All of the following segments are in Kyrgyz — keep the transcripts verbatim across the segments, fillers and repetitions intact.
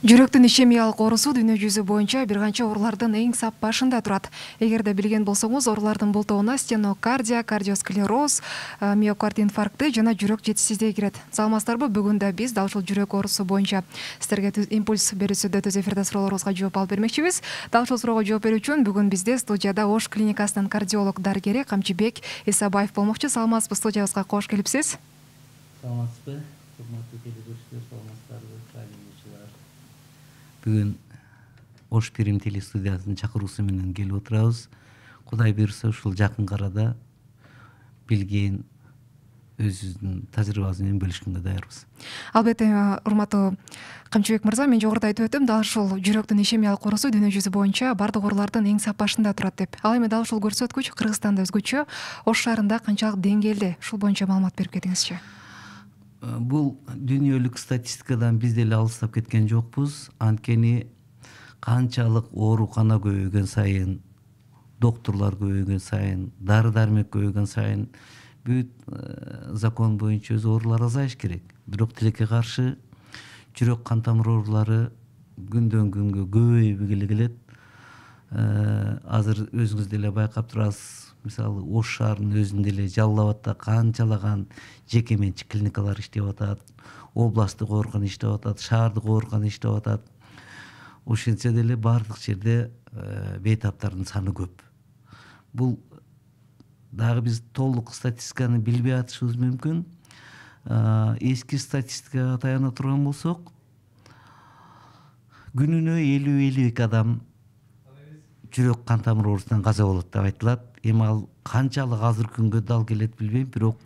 Жүрөктүн ишемиялык оорусу дүйнө жүзү боюнча бир канча оорулардын эң сап башында турат. Эгерде билген болсоңуз, оорулардын бул тобуна стенокардия, кардиосклероз, миокард инфаркты жана жүрөк жетишсиздиги кирет. Саламатсыздарбы? Бүгүн да биз дал ушул жүрөк оорусу боюнча сиздерге импульс берүүсүдө түз эфирде суроолоруңузга жооп алып бермекчибиз. Дал ушул суроого жооп берүү үчүн бүгүн бизде студияда Ош клиникасынын кардиолог дарыгери Камчыбек Исабаев болмокчу. Саламатсызбы? Студиябызга кош келипсиз. Саламатсызбы? Урматтуу телезөрчүлөр, саламатсыздарбы? Бүгүн Ош Перим телестудиясынын чакыруусу менен келип отурабыз. Кудай буйрса ушул жакын арада билген өзүбүздүн тажрыйбабыз менен бөлүшкөнгө даярбыз. Албетте, урматтуу Камчыбек мырза, мен жогоруда айтып өттүм, дал ушул жүрөктүн ишемиялык оорусу дүйнө жүзү боюнча бардык оорулардын эң сап башында турат деп. Ал эми дал ушул көрсөткүч Кыргызстанда өзгөчө, Ош шаарында канчалык деңгээлде? Ушул боюнча маалымат берип кетиңизчи. Бул дүйнөлүк статистикадан биз деле алыстап кеткен жокпуз. Анткени канчалык оорукана көбөйгөн сайын, доктурлар көбөйгөн сайын, дары дармек көбөйгөн сайын бүт закон боюнча өз оорулар азайыш керек. Бирок тилекке каршы жүрөк кан тамыр оорулары күндөн күнгө көбөйүп эле келет. Азыр өзүңүз деле байкап турасыз. Мисалы, Ош шаарынын өзүндө эле Жалал абадда канчалаган жеке менчик клиникалар иштеп атат, областтык оорукана иштеп атат, шаардык оорукана иштеп атат. Ошентсе деле бардык жерде бейтаптардын саны көп. Бул дагы биз толук статистиканы билбей атышыбыз мүмкүн. Эски статистикага таяна турган болсок, күнүнө элүү элүү эки адам жүрөк кан тамыр оорусунан каза болот деп айтылат. Эми ал канчалык азыр күнгө дал келет билбейм, бирок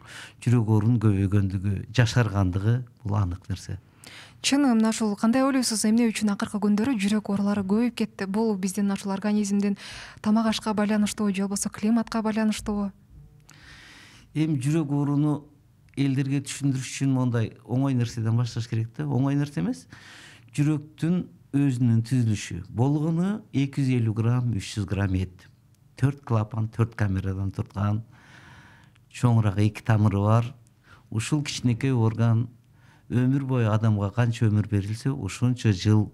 жүрөк оорунун көбөйгөндүгү, жашаргандыгы бул анык нерсе. Чын, мына ушул кандай ойлойсуз, эмне үчүн акыркы күндөрү жүрөк оорулары көбөйүп кетти? Бул биздин ушул организмдин тамак ашка байланыштуубу же болбосо климатка байланыштуубу? Эми жүрөк ооруну элдерге түшүндүрүш үчүн мондай оңой нерседен башташ керек да. Оңой нерсе эмес. Жүрөктүн өзүнүн түзүлүшү болгону эки жүз элүү грамм, үч жүз грамм эт. төрт клапан, төрт камерадан турган, чоңураак эки тамыры бар. Ушул кичинекей орган өмүр бою адамга канча өмүр берилсе, ошончо жыл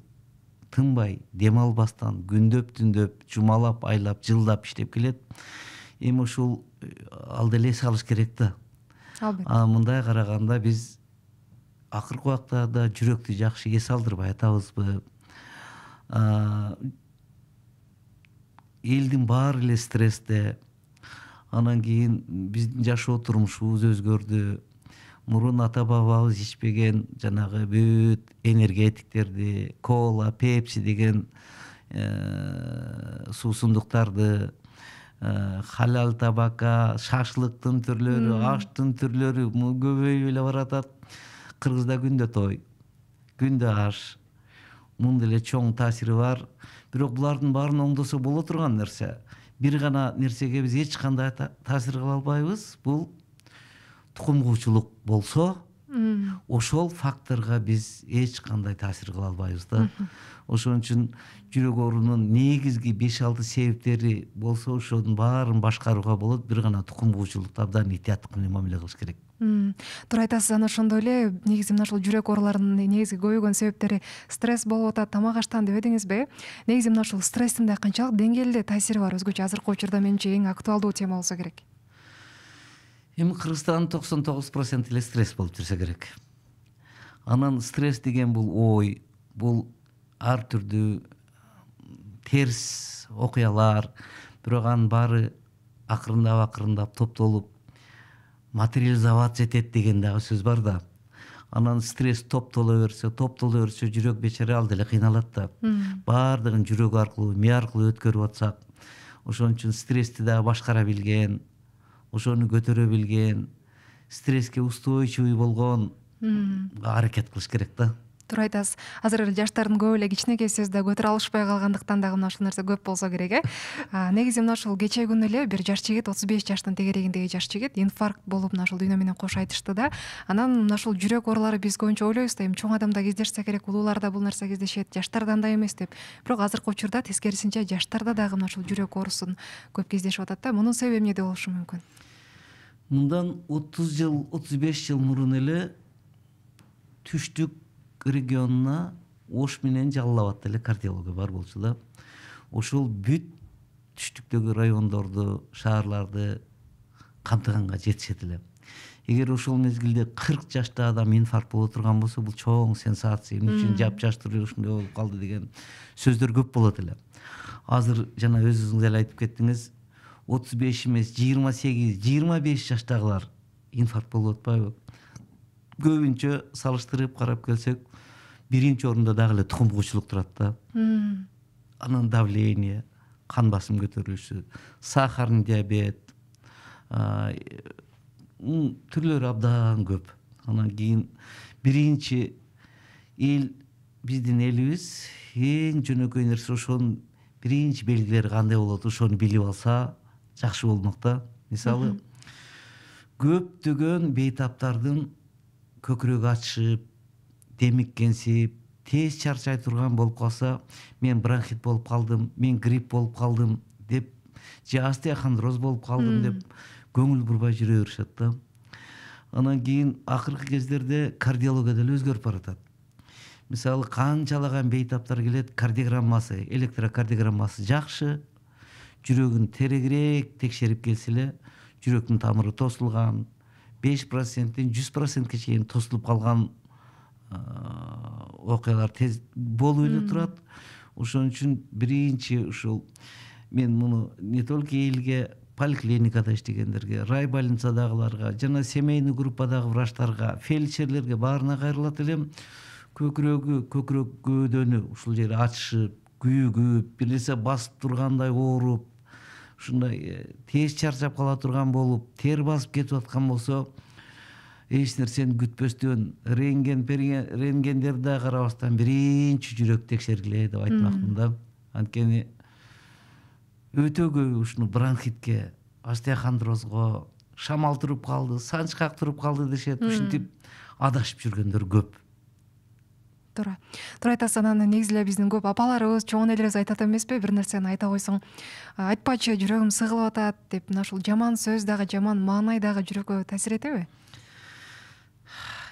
тынбай, дем албастан, күндөп, түндөп, жумалап, айлап, жылдап иштеп келет. Эми ушул ал деле эс алыш керек да. Албетте. Мындай караганда биз акыркы убактарда жүрөктү жакшы эс алдырбай атабызбы? Элдин баары эле стрессте. Анан кийин биздин жашоо турмушубуз өзгөрдү. Мурун ата бабабыз ичпеген жанагы бүт энергетиктерди, кола, пепси деген суусундуктарды, халал табакка, шашлыктын түрлөрү, аштын түрлөрү көбөйүп эле баратат. Кыргызда күндө той, күндө аш. Мунун деле чоң таасири бар. Бирок булардын баарын оңдосо боло турган нерсе. Бир гана нерсеге биз эч кандай таасир кыла албайбыз. Бул тукум куучулук болсо, ошол факторго биз эч кандай таасир кыла албайбыз да. Ошон үчүн жүрөк оорунун негизги беш алты себептери болсо, ошонун баарын башкарууга болот. Бир гана тукум куучулукту абдан этияттык менен мамиле кылыш керек. Туура айтасыз. Анан ошондой эле негизи мына ушул жүрөк ооруларынын негизги көбөйгөн себептери стресс болуп атат, тамак аштан дебедиңизби? Негизи мына ушул стресстин да канчалык деңгээлде таасири бар? Өзгөчө азыркы учурда менимче эң актуалдуу тема болсо керек. Эми Кыргызстандын токсон тогуз проценти эле стресс болуп жүрсө керек. Анан стресс деген бул ой, бул ар түрдүү терс окуялар, бирок анын баары акырындап акырындап топтолуп материализоваться этет деген дагы сөз бар да. Анан стресс топтоло берсе, топтоло берсе, жүрөк бечара ал деле кыйналат да. Баардыгын жүрөк аркылуу, ми аркылуу өткөрүп атсак, ошон үчүн стрессти дагы башкара билген, ошону көтөрө билген, стресске устойчивый болгон аракет кылыш керек да. Туура айтасыз. Азыр эле жаштардын көп эле кичинекей сөздө көтөрө алышпай калгандыктан дагы мына ушул нерсе көп болсо керек, э. Негизи мына ушул кечээ күнү эле бир жаш жигит, отуз беш жаштын тегерегиндеги жаш жигит инфаркт болуп мына ушул дүйнө менен кош айтышты да. Анан мына ушул жүрөк оорулары биз көбүнчө ойлойбуз да, эми чоң адамда кездешсе керек, улуулар да бул нерсе кездешет, жаштарда андай эмес деп. Бирок азыркы учурда тескерисинче жаштарда дагы мына ушул жүрөк оорусун көп кездешип атат да. Мунун себеби эмнеде болушу мүмкүн? Мындан отуз жыл, отуз беш жыл мурун эле түштүк регионуна Ош менен Жалал Абадта эле кардиология бар болчу да. Ошол бүт түштүктөгү райондорду, шаарларды камтыганга жетишет эле. Эгер ошол мезгилде кырк жашта адам инфаркт боло турган болсо, бул чоң сенсация. Эмне үчүн жапжаштыр ушундай болуп калды деген сөздөр көп болот эле. Азыр жана өзүңүз эле айтып кеттиңиз, отуз беш эмес, жыйырма сегиз, жыйырма беш жаштагылар инфаркт болуп атпайбы? Көбүнчө салыштырып карап келсек, биринчи орунда дагы эле тукум куучулук турат да. Анан давление, кан басым көтөрүлүшү, сахарный диабет, түрлөрү абдан көп. Анан кийин биринчи эл, биздин элибиз эң жөнөкөй нерсе ошонун биринчи белгилери кандай болот, ошону билип алса жакшы болмок да. Мисалы, көптөгөн бейтаптардын көкүрөгү ачышып, демиккенсип, тез чарчай турган болуп калса, мен бронхит болуп калдым, мен грипп болуп калдым деп, же остеохондроз болуп калдым деп көңүл бурбай жүрө беришет да. Анан кийин акыркы кездерде кардиология деле өзгөрүп баратат. Мисалы, канчалаган бейтаптар келет, кардиограммасы, электрокардиограммасы жакшы, жүрөгүн терегирээк текшерип келсе эле, жүрөктүн тамыры тосулган, беш проценттен жүз процентке чейин тосулуп калган окуялар тез болуп эле турат. Ошон үчүн биринчи ушул мен муну не только элге, поликлиникада иштегендерге, райбольницадагыларга жана семейный группадагы врачтарга, фельдшерлерге баарына кайрылат элем. Көкүрөгү, көкүрөк көөдөнү ушул жери ачышып, күйүгүп, бир нерсе басып тургандай ооруп, ушундай тез чарчап кала турган болуп, тер басып кетип аткан болсо, эч нерсени күтпөстөн рентген, рентгендерди да карабастан биринчи жүрөк текшергиле деп айтмакмын да. Анткени өтө көп ушуну бронхитке, остеохондрозго, шамал туруп калды, санчкак туруп калды дешет. Ушинтип адашып жүргөндөр көп. Туура. Туура айтасыз. Анан негизи эле биздин көп апаларыбыз, чоң энелерибиз айтат эмеспи, бир нерсени айта койсоң, айтпачы, жүрөгүм сыгылып атат деп, мына ушул жаман сөз дагы, жаман маанай дагы жүрөккө таасир этеби?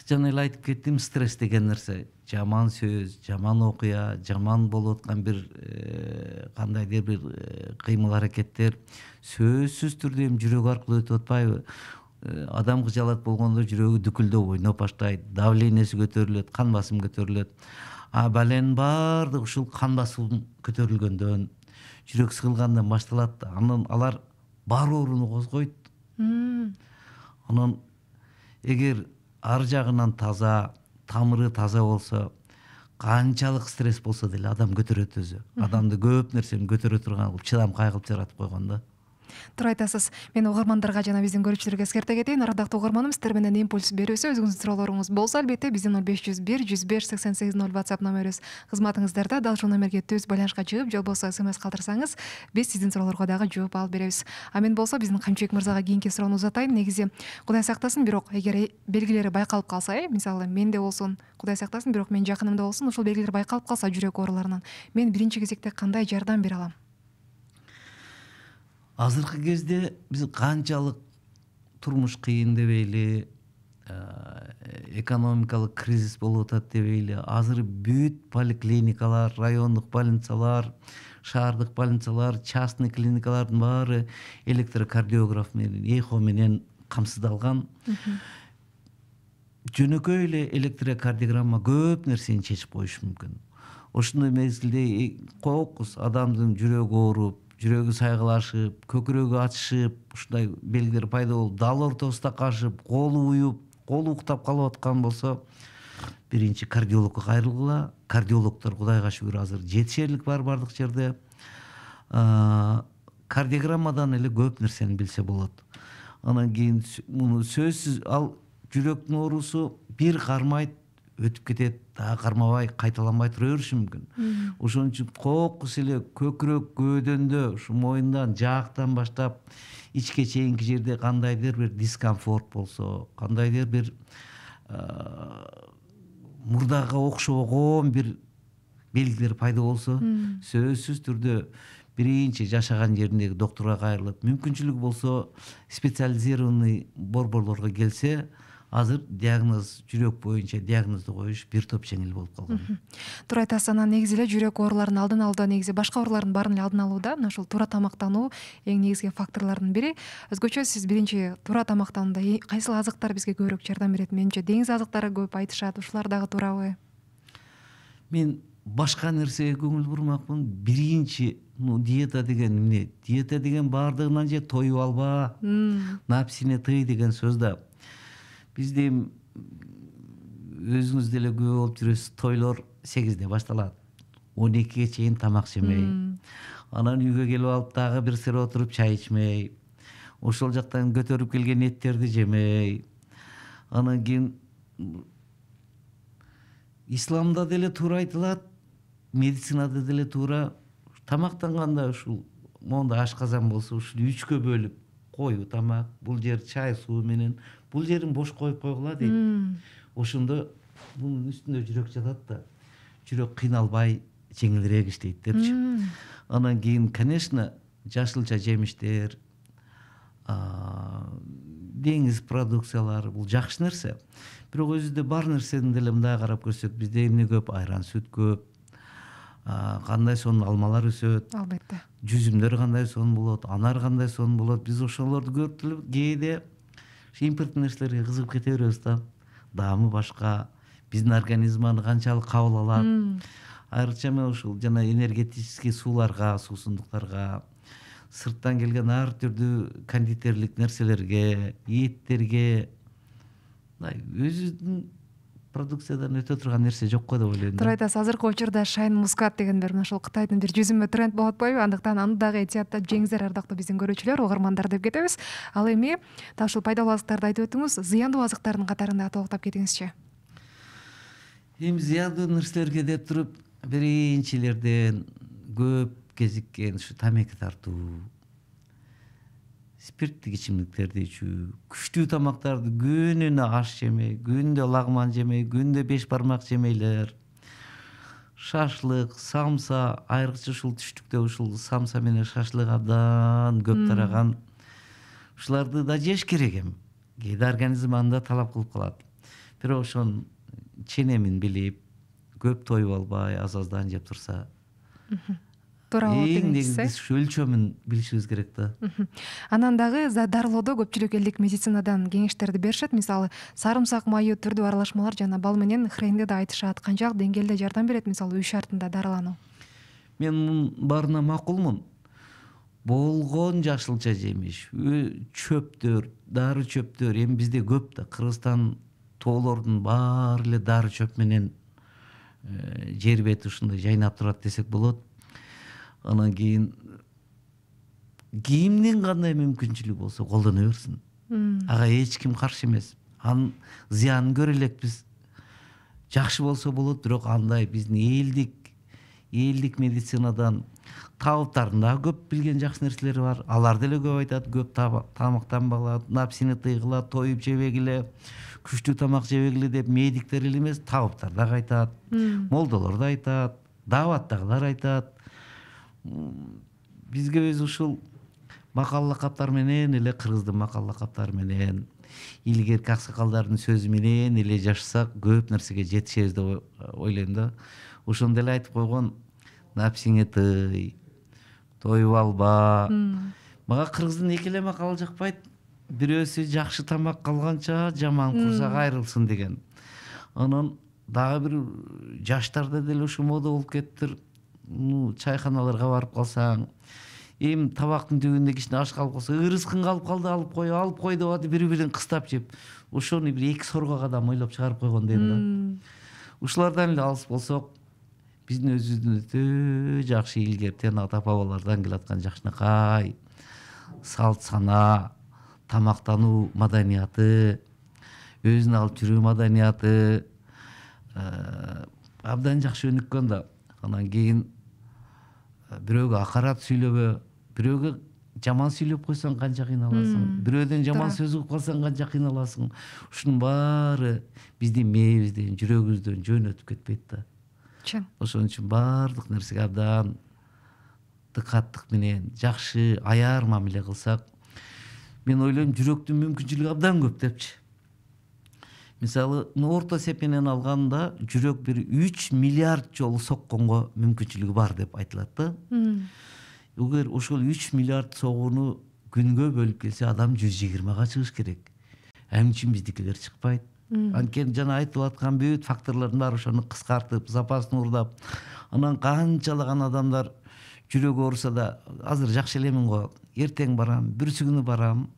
Жана эле айтып кеттим, стресс деген нерсе, жаман сөз, жаман окуя, жаман болуп аткан бир кандайдыр бир кыймыл аракеттер сөзсүз түрдө эми жүрөк аркылуу өтүп атпайбы? Адам кыжалат болгондо жүрөгү дүкүлдөп ойноп баштайт, давлениеси көтөрүлөт, кан басым көтөрүлөт. А баленин баардыгы ушул кан басым көтөрүлгөндөн, жүрөк сыгылгандан башталат. Анан алар бар ооруну козгойт. Анан эгер ар жагынан таза, тамыры таза болсо, канчалык стресс болсо деле адам көтөрөт өзү. Адамды көп нерсени көтөрө турган кылып, чыдамкай кылып жаратып койгон да. Туура айтасыз. Мен угармандарга жана биздин көрүүчүлөргө эскерте кетейин. Ардактуу угарманым, сиздер менен импульс берүүсү, өзүңүздүн суроолоруңуз болсо, албетте биздин ноль беш жүз бир жүз беш сексен сегиз ноль WhatsApp номерибиз кызматыңыздарда. Дал ушул номерге түз байланышка чыгып, же болбосо смс калтырсаңыз, биз сиздин суроолорго дагы жооп алып беребиз. А мен болсо биздин Камчыбек мырзага кийинки суроону узатайын. Негизи Кудай сактасын, бирок эгер белгилери байкалып калса, э, мисалы менде болсун, Кудай сактасын, бирок менин жакынымда болсун, ушул белгилер байкалып калса жүрөк ооруларынан, мен биринчи кезекте кандай жардам бере алам? Азыркы кезде биз канчалык турмуш кыйын дебейли, экономикалык кризис болуп атат дебейли, азыр бүт поликлиникалар, райондук больницалар, шаардык больницалар, частный клиникалардын баары электрокардиограф менен, эхо менен камсыздалган. Жөнөкөй эле электрокардиограмма көп нерсени чечип коюшу мүмкүн. Ошондой мезгилде кокус адамдын жүрөгү ооруп, жүрөгү сайгылашып, көкүрөгү ачышып, ушундай белгилер пайда болуп, дал ортосунда кашып, колу уюп, колу уктап калып аткан болсо, биринчи кардиологко кайрылгыла. Кардиологдор Кудайга шүгүр азыр жетишерлик бар бардык жерде. Кардиограммадан эле көп нерсени билсе болот. Анан кийин муну сөзсүз, ал жүрөктүн оорусу бир кармайт, өтүп кетет, дагы кармабай, кайталанбай тура бериши мүмкүн. Ошон үчүн кокус эле көкүрөк көөдөндө, ушу моюндан, жаактан баштап ичке чейинки жерде кандайдыр бир дискомфорт болсо, кандайдыр бир мурдага окшогон бир белгилер пайда болсо, сөзсүз түрдө биринчи жашаган жериндеги доктурга кайрылып, мүмкүнчүлүгү болсо специализированный борборлорго келсе, азыр диагноз жүрөк боюнча диагнозду коюш бир топ жеңил болуп калган. Туура айтасыз. Анан негизи эле жүрөк ооруларынын алдын алууда негизи башка оорулардын баарын эле алдын алууда мына ушул туура тамактануу эң негизги факторлордун бири. Өзгөчө сиз биринчи туура тамактанууда кайсыл азыктар бизге көбүрөөк жардам берет? Менимче деңиз азыктары көп айтышат. Ушулар дагы туурабы? Мен башка нерсеге көңүл бурмакмын. Биринчи ну диета деген эмне? Диета деген баардыгынан же тоюп алба, напсине тый деген сөз да. Бизде өзүңүз деле күбө болуп жүрөсүз, тойлор сегизде башталат. он экиге чейин тамак жемей. Анан үйгө келип алып дагы бир сыра отуруп чай ичмей. Ошол жактан көтөрүп келген эттерди жемей. Анан кийин исламда деле туура айтылат, медицинада деле туура тамактанганда ушул монда ашказан болсо ушул үчкө бөлүп коюу тамак, бул жер чай суу менен, бул жерин бош коюп койгула дейт. Ошондо бунун үстүндө жүрөк жатат да, жүрөк кыйналбай жеңилирээк иштейт депчи. Анан кийин, конечно, жашылча жемиштер, деңиз продукциялары бул жакшы нерсе. Бирок өзүдө бар нерсени деле мындай карап көрсөк, бизде эмне көп? Айран, сүт көп. Кандай сонун алмалар өсөт. Албетте. Жүзүмдөр кандай сонун болот, анар кандай сонун болот. Биз ошолорду көрүп эле кээде импорттуу нерселерге кызыгып кете беребиз да. Даамы башка, биздин организм аны канчалык кабыл алат. Айрыкча мен ушул жана энергетический сууларга, суусундуктарга, сырттан келген ар түрдүү кондитерлик нерселерге, эттерге өзүнүн продукциядан өтө турган нерсе жок го деп ойлойм да. Туура айтасыз. Азыркы учурда шайн мускат деген бир ошол Кытайдын бир жүзүмө тренд болуп атпайбы? Андыктан аны дагы этияттап жеңиздер, ардактуу биздин көрүүчүлөр, угармандар деп кетебиз. Ал эми дал ушул пайдалуу азыктарды айтып өтүңүз. Зыяндуу азыктардын катарында толуктап кетиңизчи. Эми зыяндуу нерселерге деп туруп биринчилерден көп кезиккен ушу тамеки тартуу, спирттик ичимдиктерди ичүү, күчтүү тамактарды күнүнө аш жемей, күндө лагман жемей, күндө беш бармак жемейлер, шашлык, самса, айрыкча ушул түштүктө ушул самса менен шашлык абдан көп тараган. Ушуларды да жеш керек эми. Кээде организм аны да талап кылып калат. Бирок ошонун ченемин билип, көп тоюп албай, аз-аздан жеп турса, туура болот эң дегенсиз. негизгisi ушу өлчөмүн билишибиз керек да. Анан дагы дарылоодо көпчүлүк элдик медицинадан кеңештерди беришет. Мисалы, сарымсак майы түрдүү аралашмалар жана бал менен хренди да айтышат. Канчалык деңгээлде жардам берет, мисалы, үй шартында дарылануу? Мен мунун баарына макулмун. Болгон жашылча жемиш, чөптөр, дары чөптөр эми бизде көп да. Кыргызстан тоолордун баары эле дары чөп менен жер бети ушундай жайнап турат десек болот. Анан кийин кимдин кандай мүмкүнчүлүгү болсо колдоно берсин. Ага эч ким каршы эмес. Анын зыянын көрө элекпиз. Жакшы болсо болот, бирок андай биздин элдик элдик медицинадан табыптардын дагы көп билген жакшы нерселери бар. Алар деле көп айтат, көп тамактанбагыла, напсини тыйгыла, тоюп жебегиле, күчтүү тамак жебегиле деп медиктер эле эмес, табыптар дагы айтат, молдолор да айтат, дааваттагылар айтат. Бизге өзү ушул макал лакаптар менен эле, кыргыздын макал лакаптары менен, илгерки аксакалдардын сөзү менен эле жашасак, көп нерсеге жетишебиз деп ойлойм да. Ошондо эле айтып койгон, напсиңе тый, тоюп алба. Мага кыргыздын эки эле макалы жакпайт. Бирөөсү жакшы тамак калганча жаман курсак айрылсын деген. Анан дагы бир жаштарда деле ушу мода болуп кетиптир. Ну, чайханаларга барып калсаң, эми табактын түбүндө кичине аш калып калса, ырыскың калып калды, алып кой, алып кой деп атып бири-бирин кыстап жеп, ошону бир эки сорго адам ойлоп чыгарып койгон дейм да. Ушулардан эле алыс болсок, биздин өзүбүздүн өтө жакшы илгертен ата-бабалардан келаткан жакшынакай салт сана, тамактануу маданияты, өзүн алып жүрүү маданияты абдан жакшы өнүккөн да. Анан кийин бирөөгө акарат сүйлөбө, бирөөгө жаман сүйлөп койсоң канча кыйналасың, бирөөдөн жаман сөз угуп калсаң канча кыйналасың. Ушунун баары биздин мээбизден, жүрөгүбүздөн жөн өтүп кетпейт да. Ошон үчүн баардык нерсеге абдан дыкаттык менен, жакшы аяр мамиле кылсак, мен ойлойм жүрөктүн мүмкүнчүлүгү абдан көп депчи. мисалы орто эсеп менен алганда жүрөк бир үч миллиард жолу сокконго мүмкүнчүлүгү бар деп айтылат да. Эгер ошол үч миллиард согууну күнгө бөлүп келсе, адам жүз жыйырмага чыгыш керек. Эмне үчүн биздикилер чыкпайт? Анткени жана айтып аткан бүт факторлордун баары ошону кыскартып, запасын уурдап, анан канчалаган адамдар жүрөгү ооруса да, азыр жакшы элемин го, эртең барам, бүрсү күнү барам,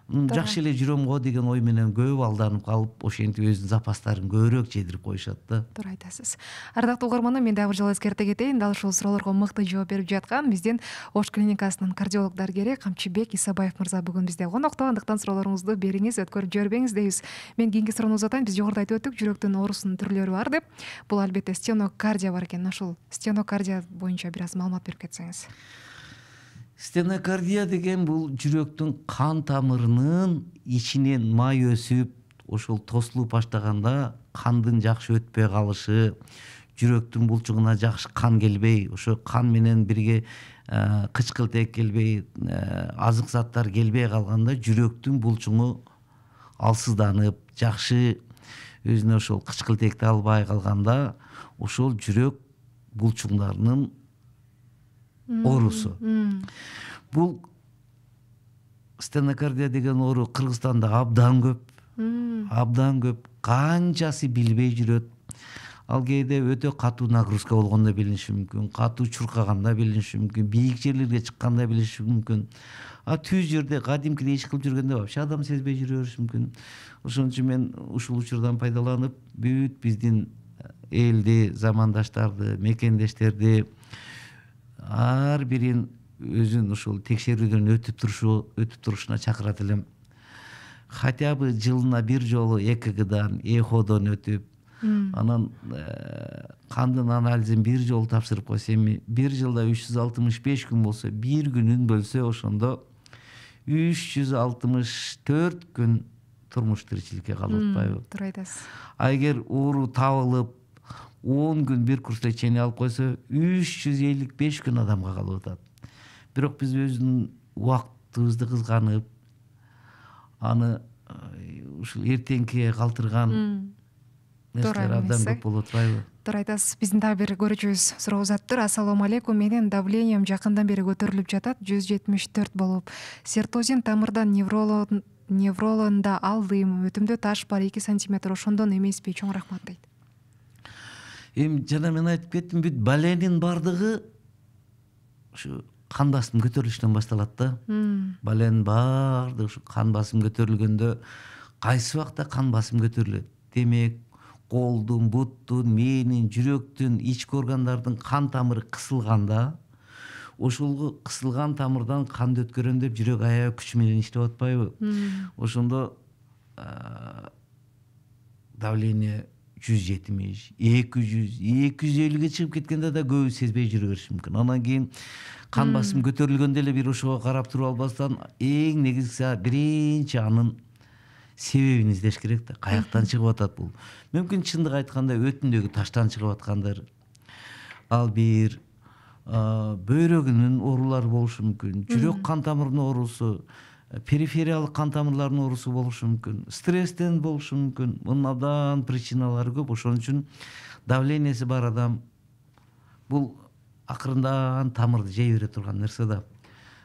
жакшы эле жүрөм го деген ой менен көп алданып калып, ошентип өзүнүн запастарын көбүрөөк жедирип коюшат да. Туура айтасыз. Ардактуу угарманым, мен дагы бир жолу эскерте кетейин. Дал ушул суроолорго мыкты жооп берип жаткан биздин Ош клиникасынын кардиолог дарыгери Камчыбек Исабаев мырза бүгүн бизде конокто. Андыктан суроолоруңузду бериңиз, өткөрүп жибербеңиз дейбиз. Мен кийинки суроону узатайын. Биз жогоруда айтып өттүк, жүрөктүн оорусунун түрлөрү бар деп. Бул албетте стенокардия бар экен. Ошол стенокардия боюнча бир аз маалымат берип кетсеңиз. Стенокардия деген бул жүрөктүн кан тамырынын ичинен май өсүп, ошол тосулуп баштаганда кандын жакшы өтпөй калышы, жүрөктүн булчугуна жакшы кан келбей, ошо кан менен бирге кычкылтек келбей, азык заттар келбей калганда жүрөктүн булчугу алсызданып, жакшы өзүнө ошол кычкылтекти албай калганда, ошол жүрөк булчуңдарынын оорусу. Бул стенокардия деген оору Кыргызстанда абдан көп. Абдан көп. Канчасы билбей жүрөт. Ал кээде өтө катуу нагрузка болгондо билиниши мүмкүн, катуу чуркаганда билиниши мүмкүн, бийик жерлерге чыкканда билиниши мүмкүн. А түз жерде кадимкидей иш кылып жүргөндө вообще адам сезбей жүрө бериши мүмкүн. Ошон үчүн мен ушул учурдан пайдаланып, бүт биздин элди, замандаштарды, мекендештерди ар бирин өзүн ушул текшерүүдөн өтүп турушу өтүп турушуна чакырат элем. Хотя бы жылына бир жолу э ка гдан, эходон өтүп, анан кандын анализин бир жолу тапшырып койсо, эми бир жылда үч жүз алтымыш беш күн болсо, бир күнүн бөлсө, ошондо үч жүз алтымыш төрт күн турмуш тиричиликке калып атпайбы? Туура айтасыз. А эгер оору табылып он күн бир курс лечение алып койсо, үч жүз элүү беш күн адамга калып атат. Бирок биз өзүнүн убактыбызды кызганып, аны ушул эртеңкиге калтырган нерселер абдан көп болуп атпайбы? Туура айтасыз. Биздин дагы бир көрүүчүбүз суроо узаттыр. Ассалому алейкум. Менин давлением жакындан бери көтөрүлүп жатат, жүз жетимиш төрт болуп. Сертозин тамырдан невролонда алдым. Өтүмдө таш бар, эки сантиметр. Ошондон эмеспи? Чоң рахмат дейт. Эми жана мен айтып кеттим, бүт баленин бардыгы ушу кан басым көтөрүлүштөн башталат да. Баленин баардыгы ушу кан басым көтөрүлгөндө, кайсы убакта кан басым көтөрүлөт? Демек, колдун, буттун, мээнин, жүрөктүн, ички органдардын кан тамыры кысылганда, ошол кысылган тамырдан канды өткөрөм деп жүрөк аябай күч менен иштеп атпайбы? Ошондо давление жүз жетимиш, эки жүз, эки жүз элүүгө чыгып кеткенде да көбү сезбей жүрө бериши мүмкүн. Анан кийин кан басым көтөрүлгөндө эле бир ошого карап туруп албастан, эң негизгиси биринчи анын себебин издеш керек да. Каяктан чыгып атат бул? Мүмкүн чындык айтканда өтүндөгү таштан чыгып аткандыр. Ал бир бөйрөгүнүн оорулары болушу мүмкүн. Жүрөк кан тамырынын оорусу, перифериялык кан тамырларынын оорусу болушу мүмкүн. Стресстен болушу мүмкүн. Мунун абдан причиналары көп. Ошон үчүн давлениеси бар адам бул акырындан тамырды жей бере турган нерсе да.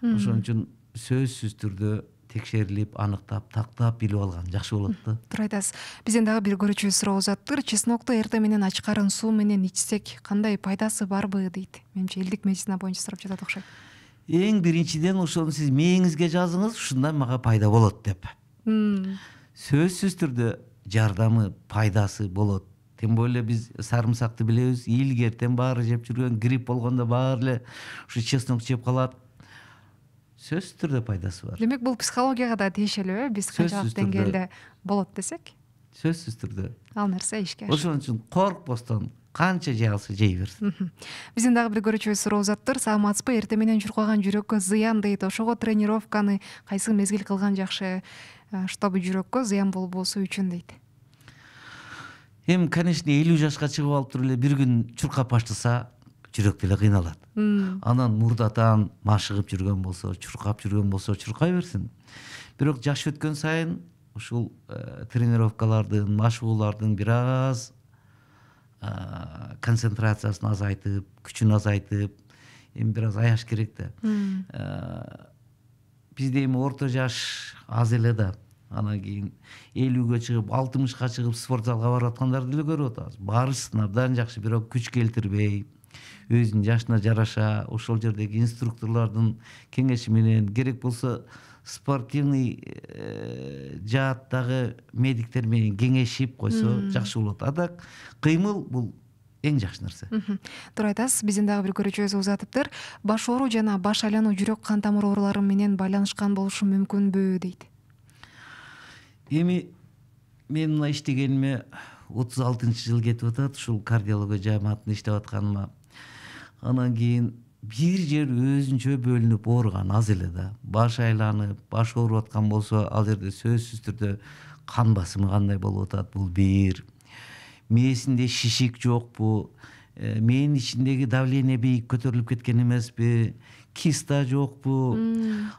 Ошон үчүн сөзсүз түрдө текшерилип, аныктап, тактап билип алган жакшы болот да. Туура айтасыз. Бизден дагы бир көрүүчүбүз суроо узаттыр. Чеснокту эртең менен ачкарын суу менен ичсек кандай пайдасы барбы дейт. Менимче элдик медицина боюнча сурап жатат окшойт. Эң биринчиден ошону сиз мээңизге жазыңыз, ушундан мага пайда болот деп. Сөзсүз түрдө жардамы, пайдасы болот. Тем более биз сарымсакты билебиз, илгертен баары жеп жүргөн, грипп болгондо баары эле ушу чеснок жеп калат. Сөзсүз түрдө пайдасы бар. Демек бул психологияга да тиешелүү, э? Биз канчалык деңгээлде болот десек? Сөзсүз түрдө. Ал нерсе ишке ашат. Ошон үчүн коркпостон канча жей алса жей берсин. Биздин дагы бир көрүүчүбүз суроо узаттыр. Саламатсызбы? Эртең менен чуркаган жүрөккө зыян дейт. Ошого тренировканы кайсы мезгил кылган жакшы, чтобы жүрөккө зыян болбосу үчүн дейт. Эми, конечно, элүү жашка чыгып алып туруп эле бир күн чуркап баштаса, жүрөк деле кыйналат. Анан мурдатан машыгып жүргөн болсо, чуркап жүргөн болсо, чуркай берсин. Бирок жаш өткөн сайын ушул тренировкалардын, машыгуулардын бир аз концентрациясын азайтып, күчүн азайтып, эми бир аз аяш керек да. Бизде эми орто жаш аз эле да. Анан кийин элүүгө чыгып, алтымышка чыгып спорт залга барып аткандарды деле көрүп атабыз. Барышсын абдан жакшы, бирок күч келтирбей, өзүнүн жашына жараша ошол жердеги инструкторлордун кеңеши менен, керек болсо спортивный жааттагы медиктер менен кеңешип койсо жакшы болот. Адак кыймыл бул эң жакшы нерсе. Туура айтасыз. Биздин дагы бир көрүүчүбүз узатыптыр. Баш оору жана баш айлануу жүрөк кан тамыр оорулары менен байланышкан болушу мүмкүнбү дейт. Эми мен мына иштегениме отуз алтынчы жыл кетип атат, ушул кардиология жааматында иштеп атканыма. Анан кийин бир жер өзүнчө бөлүнүп ооруган аз эле да. Баш айланып, баш ооруп аткан болсо, ал жерде сөзсүз түрдө кан басымы кандай болуп атат, бул бир. Мээсинде шишик жокпу, мээнин ичиндеги давление бийик көтөрүлүп кеткен эмеспи, киста жокпу.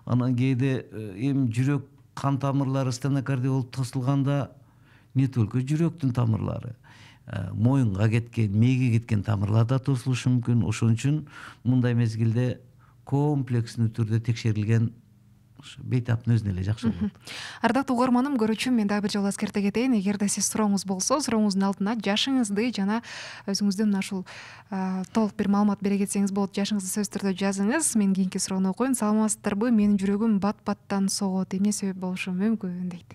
Анан кээде эми жүрөк кан тамырлары стенокардия болуп тосулганда не только жүрөктүн тамырлары, моюнга кеткен, мээге кеткен тамырлар да тосулушу мүмкүн. Ошон үчүн мындай мезгилде комплекстүү түрдө текшерилген бейтаптын өзүнө эле жакшы болот. Ардактуу угарманым, көрүүчүм, мен дагы бир жолу эскерте кетейин. Эгерде сиз сурооңуз болсо, сурооңуздун алдына жашыңызды жана өзүңүздүн ушул толук бир маалымат бере кетсеңиз болот. Жашыңызды сөзсүз түрдө жазыңыз. Мен кийинки суроону окуйм. Саламатсыздарбы? Менин жүрөгүм бат-баттан согот. Эмне себеп болушу мүмкүн дейт.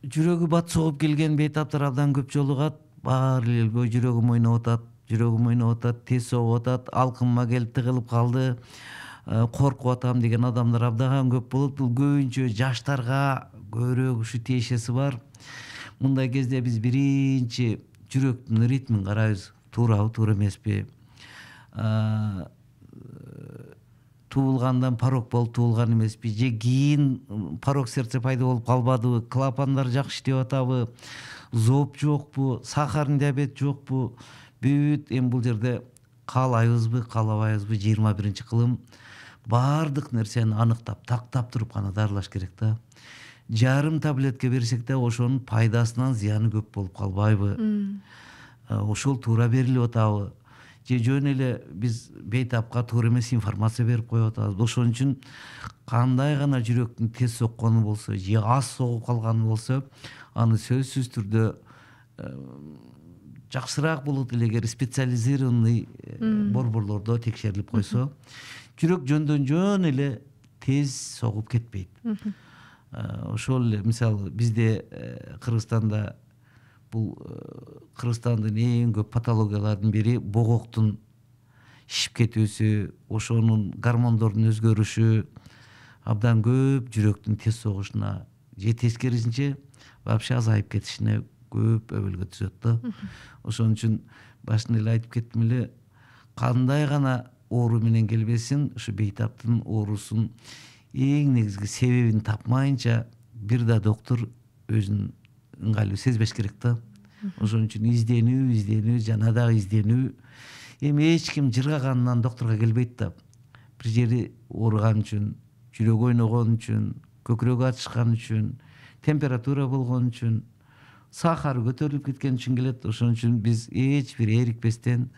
Жүрөгү бат согуп келген бейтаптар абдан көп жолугат. Баары эле жүрөгүм ойноп атат, жүрөгүм ойноп атат, тез согуп атат, алкымыма келип тыгылып калды, коркуп атам деген адамдар абдан көп болот. Бул көбүнчө жаштарга көбүрөөк ушу тиешеси бар. Мындай кезде биз биринчи жүрөктүн ритмин карайбыз. Туурабы, туура эмеспи? Туулгандан порок болуп туулган эмеспи? Же кийин порок сердце пайда болуп калбадыбы? Клапандар жакшы иштеп атабы? Зоб жокпу? Сахарный диабет жокпу? Бүт эми бул жерде каалайбызбы, каалабайбызбы? жыйырма биринчи кылым баардык нерсени аныктап, тактап туруп гана дарылаш керек да. Жарым таблетка берсек да ошонун пайдасынан зыяны көп болуп калбайбы? Ошол туура берилип атабы? Же жөн эле биз бейтапка туура эмес информация берип коюп атабыз? Ошон үчүн кандай гана жүрөктүн тез соккону болсо, же аз согуп калганы болсо, аны сөзсүз түрдө жакшыраак болот эле эгер специализированный борборлордо текшерилип койсо. Жүрөк жөндөн жөн эле тез согуп кетпейт. Ошол эле мисалы бизде Кыргызстанда бул Кыргызстандын эң көп патологияларынын бири богоктун шишип кетүүсү, ошонун гормондордун өзгөрүшү абдан көп жүрөктүн тез согушуна же тескерисинче вообще азайып кетишине көп өбөлгө түзөт да. Ошон үчүн башында эле айтып кеттим эле, кандай гана оору менен келбесин, ушу бейтаптын оорусун эң негизги себебин тапмайынча бир да доктор өзүн ыңгайлуу сезбеш керек да. Ошон үчүн изденүү, изденүү, жана дагы изденүү. Эми эч ким жыргаганынан докторго келбейт да. Бир жери ооруган үчүн, жүрөгү ойногон үчүн, көкүрөгү ачышкан үчүн, температура болгон үчүн, сахары көтөрүлүп кеткен үчүн келет. Ошон үчүн биз эч бир эрикпестен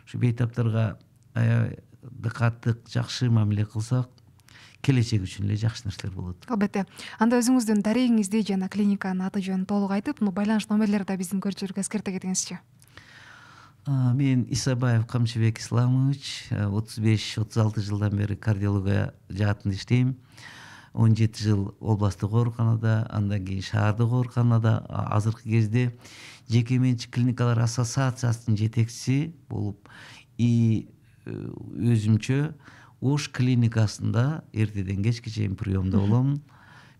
ушу бейтаптарга аябай дыкаттык, жакшы мамиле кылсак, келечек үчүн эле жакшы нерселер болот. Албетте. Анда өзүңүздүн дарегиңизди жана клиниканын аты жөнүн толук айтып, байланыш номерлерди да биздин көрүүчүлөргө эскерте кетиңизчи. Мен Исабаев Камчыбек Исламович, отуз беш отуз алты жылдан бери кардиология жаатында иштейм. он жети жыл областтык ооруканада, андан кийин шаардык ооруканада, азыркы кезде жеке менчик клиникалар ассоциациясынын жетекчиси болуп и өзүмчө Ош клиникасында эртеден кечке чейин приемдо болом.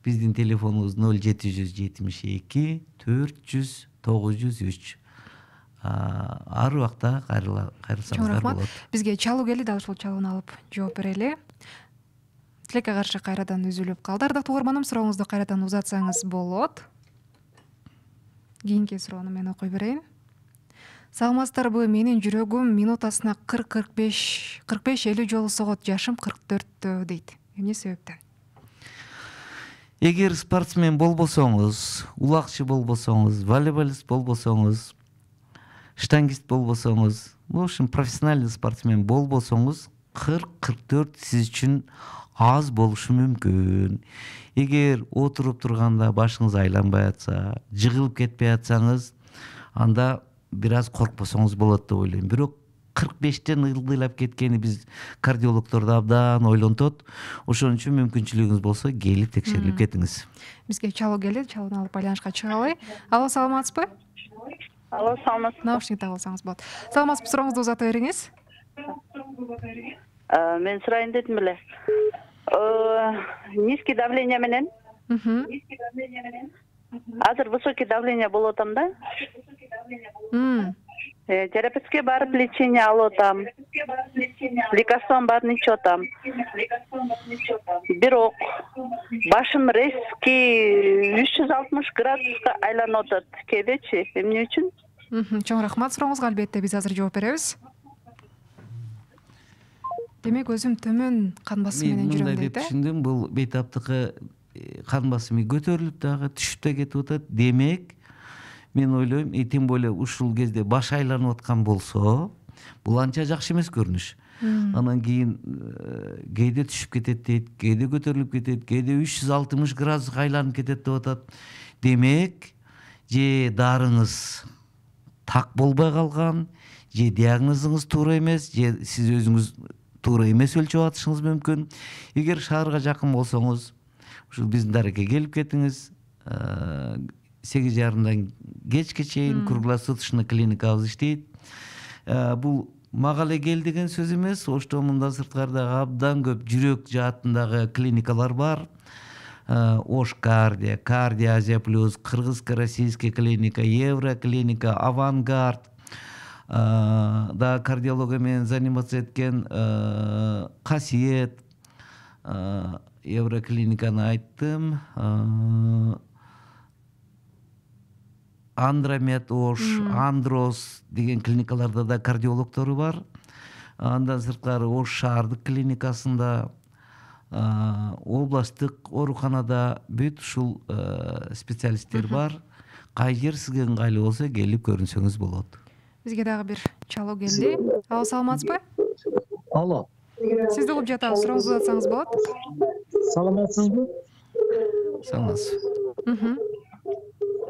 Биздин телефонубуз ноль жети жүз жетимиш эки төрт жүз тогуз жүз үч. Ар убакта кайрылсаңыздар болот. Бизге чалуу келди, дал ушул чалууну алып жооп берели. Тилекке каршы кайрадан үзүлүп калды. Ардактуу угарманым, сурооңузду кайрадан узатсаңыз болот. Кийинки суроону мен окуй берейин. Саламатсыздарбы? Менин жүрөгүм минутасына кырк кырк беш элүү жолу согот. Жашым кырк төрттө дейт. Эмне себептен? эгер спортсмен болбосоңуз, улакчы болбосоңуз, волейболист болбосоңуз, штангист болбосоңуз, в общем профессиональный спортсмен болбосоңуз, кырк кырк төрт сиз үчүн аз болушу мүмкүн. Эгер отуруп турганда башыңыз айланбай атса, жыгылып кетпей атсаңыз, анда бир аз коркпосоңуз болот деп ойлойм. Бирок кырк бештен ылдыйлап кеткени биз кардиологдорду абдан ойлонтот. Ошон үчүн мүмкүнчүлүгүңүз болсо келип текшерилип кетиңиз. Бизге чалуу келди, чалууну алып байланышка чыгалы. Алло, саламатсызбы? Алло, саламатсызбы? Наушник тагып алсаңыз болот. Саламатсызбы, сурооңузду узата бериңиз. Мен сурайын дедим эле. Низкий давление менен. Азыр высокий давление болуп атам да. Терапевтке барып лечение алып атам. Лекарством баарын ичип атам. Бирок башым резкий үч жүз алтымыш градуска айланып атат. Кээдечи, эмне үчүн? Чоң рахмат сурооңузга, албетте биз азыр жооп беребиз. Демек өзүм төмөн кан басымы менен жүрөм дейт э? Түшүндүм, бул бейтаптыкка кан басымы көтөрүлүп дагы түшүп да кетип атат. Демек, мен ойлойм, тем более ушул кезде баш айланып аткан болсо, бул анча жакшы эмес көрүнүш. Анан кийин кээде түшүп кетет дейт, кээде көтөрүлүп кетет, кээде үч жүз алтымыш градуска айланып кетет деп атат. Демек, же дарыңыз так болбой калган, же диагнозуңуз туура эмес, же сиз өзүңүз туура эмес өлчөп атышыңыз мүмкүн. Эгер шаарга жакын болсоңуз, ушул биздин дарекке келип кетиңиз. сегиз жарымдан кечке чейин круглосуточный клиникабыз иштейт. Бул мага эле кел деген сөз эмес. Ошто мындан сырткары дагы абдан көп жүрөк жаатындагы клиникалар бар. Ош Кардия, Кардия Азия плюс, Кыргызско-российский клиника, Евро клиника, Авангард. Да кардиология менен заниматься эткен Касиет, Евроклиниканы айттым. Андромед Ош, Андрос деген клиникаларда да кардиологтору бар. Андан сырткары Ош шаардык клиникасында, областтык ооруканада бүт ушул специалисттер бар. Кай жер сизге ыңгайлуу болсо келип көрүнсөңүз болот. Бизге дагы бир чалуу келди. Алло, саламатсызбы? Алло. Сизди угуп жатабыз, сурооңузду uzatсаңыз болот. Саламатсызбы? Саламатсыз.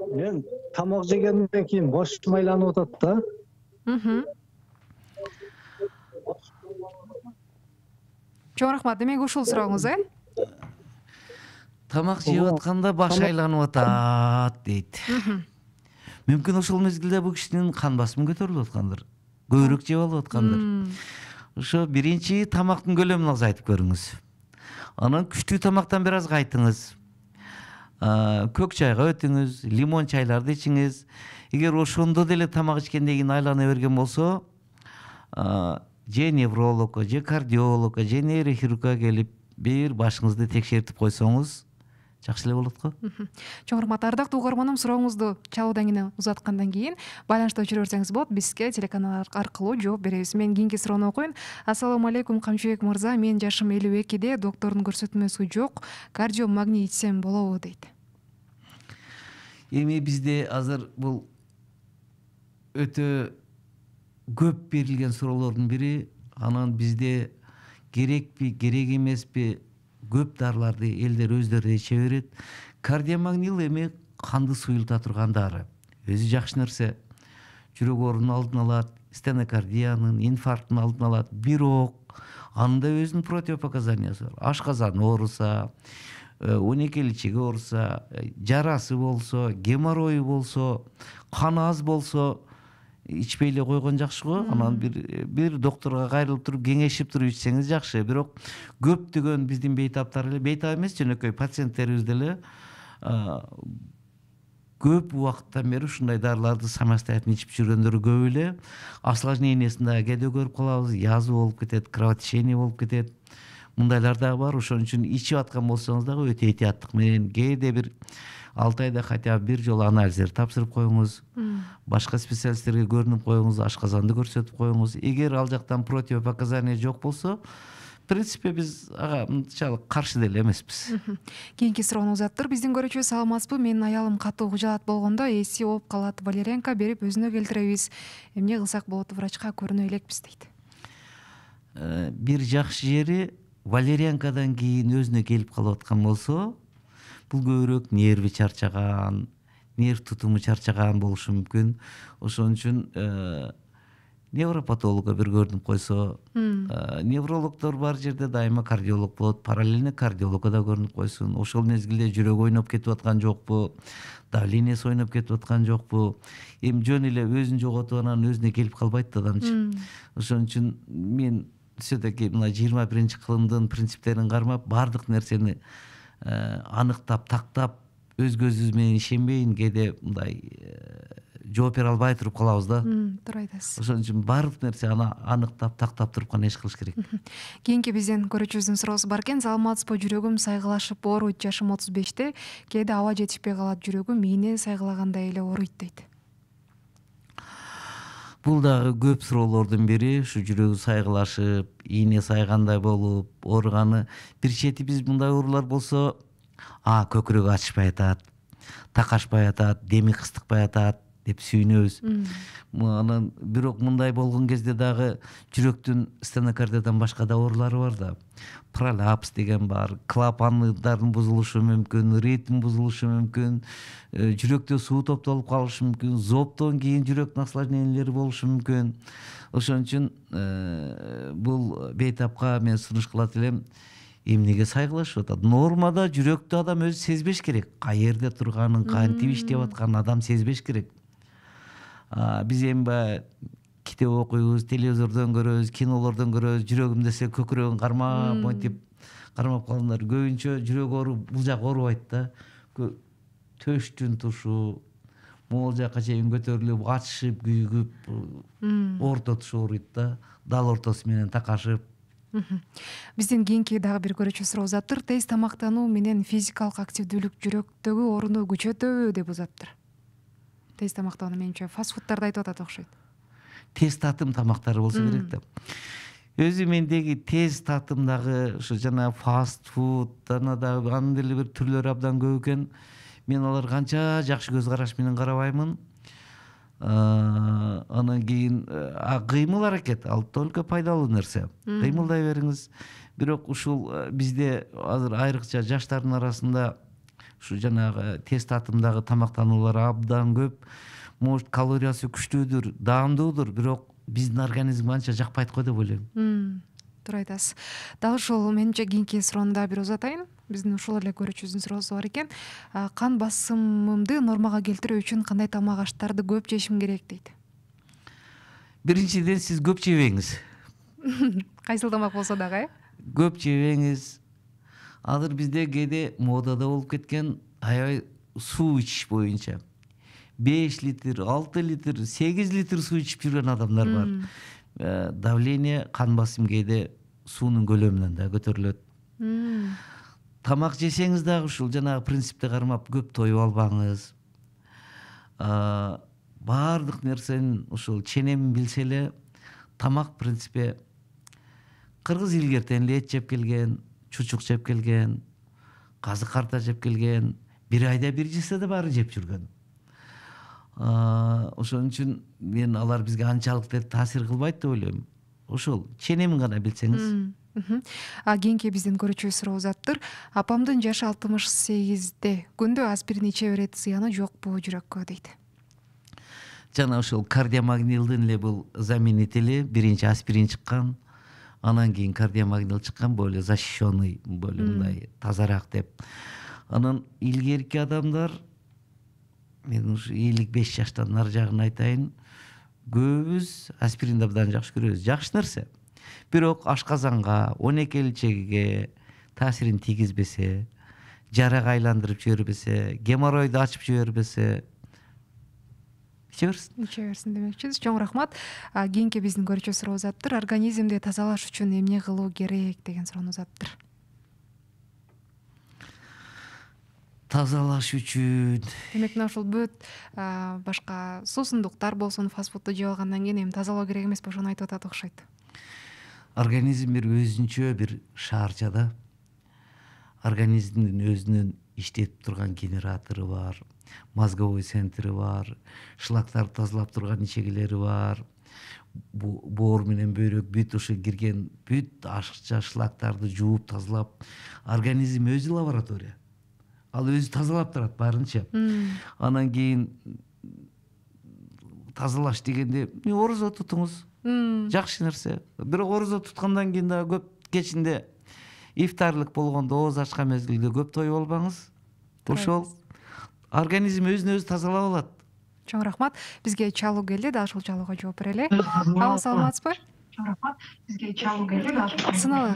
Мен тамак жегенден кийин башым айланып атат да. Чоң рахмат. Демек ушул сурооңуз, э? Тамак жеп атканда баш айланып атат дейт. Мүмкүн ошол мезгилде бул кишинин кан басымы көтөрүлүп аткандыр. Көбүрөөк жеп алып аткандыр. Ошо биринчи тамактын көлөмүн азайтып көрүңүз. Анан күчтүү тамактан бир аз кайтыңыз. Көк чайга өтүңүз, лимон чайларды ичиңиз. Эгер ошондо деле тамак ичкенден кийин айлана берген болсо, же неврологко, же кардиологко, же нейрохирургка келип бир башыңызды текшертип койсоңуз жакшы эле болот го. Чоң рахмат. Ардактуу угарманым, сурооңузду чалуудан кийин узаткандан кийин байланышта өчүрө берсеңиз болот. Бизге телеканал аркылуу жооп беребиз. Мен кийинки суроону окуйн. Ассаламу алейкум, Камчыбек мырза. Менин жашым элүү экиде, доктордун көрсөтмөсү жок. Кардио магний ичсем болобу дейт. Эми бизде азыр бул өтө көп берилген суроолордун бири. Анан бизде керекпи, керек эмеспи, көп дарыларды элдер өздөрү иче берет. Кардиомагнил эми канды суюлта турган дары. Өзү жакшы нерсе. Жүрөк оорунун алдын алат, стенокардиянын, инфаркттын алдын алат. Бирок анда өзүнүн противопоказаниясы бар. Ашказан ооруса, он эки ичеги ооруса, жарасы болсо, геморрою болсо, кан аз болсо ичпей эле койгон жакшы го. Анан бир бир докторго кайрылып туруп кеңешип туруп ичсеңиз жакшы. Бирок көптөгөн биздин бейтаптар эле, бейтап эмес, жөнөкөй пациенттерибиз деле көп убакыттан бери ушундай дарыларды самостоятельно ичип жүргөндөр көп эле. Осложнениясын да кээде көрүп калабыз, язва болуп кетет, кровотечение болуп кетет. Мындайлар дагы бар. Ошон үчүн ичип аткан болсоңуз дагы өтө этияттык менен кээде бир алты айда хотя бы бир жолу анализдер тапшырып коюңуз. Башка специалисттерге көрүнүп коюңуз, ашказанды көрсөтүп коюңуз. Эгер ал жактан противопоказания жок болсо, принципе биз ага мынчалык каршы деле эмеспиз. Кийинки суроону узаттыр. Биздин көрүүчү саламатсызбы? Менин аялым катуу кыжаат болгондо эси ооп калат. Валерьянка берип өзүнө келтиребиз. Эмне кылсак болот? Врачка көрүнө элекпиз дейт. Бир жакшы жери валерьянкадан кийин өзүнө келип калып аткан болсо, бул көбүрөөк нерви чарчаган, нерв тутуму чарчаган болушу мүмкүн. Ошон үчүн невропатологго бир көрүнүп койсо, неврологдор бар жерде дайыма кардиолог болот, параллельно кардиологго да көрүнүп койсун. Ошол мезгилде жүрөгү ойноп кетип аткан жокпу, давлениеси ойноп кетип аткан жокпу, эми жөн эле өзүн жоготуп анан өзүнө келип калбайт да адамчы. Ошон үчүн мен все-таки мына жыйырма биринчи кылымдын принциптерин кармап, баардык нерсени аныктап, тактап, өз көзүбүз менен ишенбейин, кээде мындай жооп бере албай туруп калабыз да. Туура айтасыз. Ошон үчүн баардык нерсе аны аныктап, тактап туруп гана иш кылыш керек. Кийинки биздин көрүүчүбүздүн суроосу бар экен. Саламатсызбы? Жүрөгүм сайгылашып ооруйт. Жашым отуз беште. Кээде аба жетишпей калат. Жүрөгүм ийне сайгылагандай эле ооруйт дейт. Бул дагы көп суроолордун бири. Ушу жүрөгү сайгылашып, ийне сайгандай болуп, ооруганы. Бир чети биз мындай оорулар болсо, а көкүрөгү ачышпай атат, такашпай атат, деми кыстыкпай атат деп сүйүнөбүз. Анан бирок мындай болгон кезде дагы жүрөктүн стенокардиядан башка да оорулары бар да. Пролапс деген бар, клапандардын бузулушу мүмкүн, ритм бузулушу мүмкүн, жүрөктө суу топтолуп калышы мүмкүн, зооптон кийин жүрөктүн осложнениялери болушу мүмкүн. Ошон үчүн бул бейтапка мен сунуш кылат элем. Эмнеге сайгылашып атат? Нормада жүрөктү адам өзү сезбеш керек. Каерде турганын, кантип иштеп атканын адам сезбеш керек. Биз эми баягы китеп окуйбуз, телевизордон көрөбүз, кинолордон көрөбүз, жүрөгүм десе көкүрөгүн кармап, монтип кармап калгандар. Көбүнчө жүрөк оору бул жак оорубайт да. Төштүн тушу, могул жака чейин көтөрүлүп, ачышып, күйүгүп, орто туш ооруйт да. Дал ортосу менен такашып. Биздин кийинки дагы бир көрүүчү суроо узаптыр. Тез тамактануу менен физикалык активдүүлүк жүрөктөгү орунду күчөтөбү деп узаптыр. Тез тамактануу менимче фастфудтарды айтып атат окшойт. Тез татым тамактары болсо керек да. Өзү мендеги тез татымдагы ушу жана фастфуд, жана дагы анын деле бир түрлөрү абдан көп экен. Мен алар канча жакшы көз караш менен карабаймын. Анан кийин кыймыл аракет, ал только пайдалуу нерсе. Кыймылдай бериңиз. Бирок ушул бизде азыр айрыкча жаштардын арасында ушу жанагы тез татымдагы тамактануулар абдан көп. Может, калориясы күчтүүдүр, даамдуудур, бирок биздин организмге анча жакпайт го деп ойлойм. Туура айтасыз. Дал ушул менимче кийинки суроону да бир узатайын. Биздин ушул эле көрүүчүбүздүн суроосу бар экен. Кан басымымды нормага келтирүү үчүн кандай тамак аштарды көп жешим керек дейт. Биринчиден сиз көп жебеңиз. Кайсыл тамак болсо дагы, э? Көп жебеңиз. Азыр бизде кээде модада болуп кеткен аябай суу ичиш боюнча. беш литр, алты литр, сегиз литр суу ичип жүргөн адамдар бар. Давление, кан басым кээде суунун көлөмүнөн да көтөрүлөт. Тамак жесеңиз дагы ушул жанагы принципти кармап көп тоюп албаңыз. Баардык нерсенин ушул ченемин билсе эле, тамак принципе кыргыз илгертен эле эт жеп келген, чучук жеп келген, казык карта жеп келген, бир айда бир жесе да баары жеп жүргөн. Ошон үчүн мен алар бизге анчалык таасир кылбайт деп ойлойм. Ошол ченемин гана билсеңиз. Кийинки биздин көрүүчү суроо узаптыр. Апамдын жашы алтымыш сегизде. Күндө аспирин иче берет, зыяны жокпу жүрөккө дейт. Жана ошол кардиомагнилдин эле бул заменители, биринчи аспирин чыккан, анан кийин кардиомагнил чыккан, более защищенный, более мындай тазараак деп. Анан илгерки адамдар, мен ушу элүү беш жаштан нары жагын айтайын, көбүбүз аспиринди абдан жакшы көрөбүз. Жакшы нерсе. Бирок ашказанга, он эки элчегиге таасирин тийгизбесе, жарага айландырып жибербесе, геморройду ачып жибербесе, иче берсин. Иче берсин демекчисиз. Чоң рахмат. Кийинки биздин көрүүчү суроо узаптыр. Организмди тазалаш үчүн эмне кылуу керек деген суроону узаптыр. Тазалаш үчүн. Демек, мына ушул бүт башка суусундуктар болсун, фастфудду жеп алгандан кийин эми тазалоо керек эмес, ошону айтып атат окшойт. организм бир өзүнчө бир шаарчада. Организмдин өзүнүн иштетип турган генератору бар, мозговой центри бар, шлактарды тазалап турган ичегелери бар. Боор менен бөйрөк бүт ошо кирген бүт ашыкча шлактарды жууп тазалап, организм өзү лаборатория. Ал өзү тазалап турат баарынча. Анан кийин тазалаш дегенде орозо тутуңуз. Жакшы нерсе. Бирок орозо туткандан кийин дагы көп кечинде ифтарлык болгондо, ооз ачкан мезгилде көп тоюп албаңыз. Ошол организм өзүн өзү тазалап алат. Чоң рахмат. Бизге чалуу келди, дагы ушул чалууга жооп берели. Алло, саламатсызбы? Чоң рахмат. Бизге чалуу келди, дагы ушул сыналган.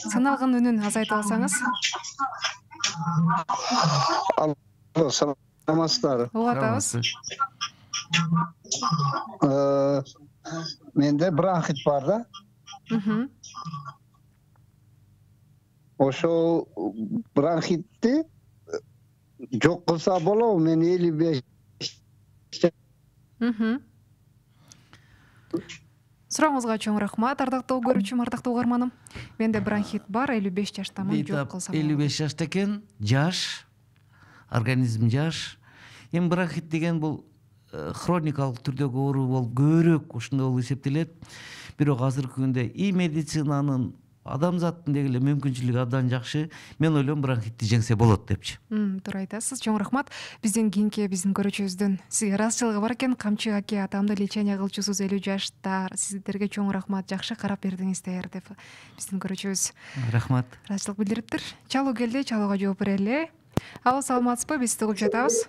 Сыналган үнүн азайтып алсаңыз. Алло, саламатсыздарбы? Угуп атабыз. Менде бронхит бар да. Ошол бронхитти жок кылса болобу? Мен элүү беш. Сурооңузга чоң рахмат, ардактуу көрүүчүм, ардактуу угарманым. Менде бронхит бар, элүү беш жаштамын, жок кылса болобу? элүү беш жашта экен, жаш, организм жаш. Эми бронхит деген бул хроникалык түрдөгү оору болуп, көбүрөөк ушундай болуп эсептелет. Бирок азыркы күндө и медицинанын, адамзаттын деги эле мүмкүнчүлүгү абдан жакшы. Мен ойлойм бронхитти жеңсе болот депчи. Туура айтасыз. Чоң рахмат. Биздин кийинки биздин көрүүчүбүздөн сизге ыраазычылыгы бар экен. Камчы аке, атамды лечение кылчусуз элүү жашта. Сиздерге чоң рахмат, жакшы карап бердиңиздер деп биздин көрүүчүбүз Рахмат. ыраазычылык билдириптир. Чалуу келди, чалууга жооп берели. Алло, саламатсызбы? Биз угуп жатабыз.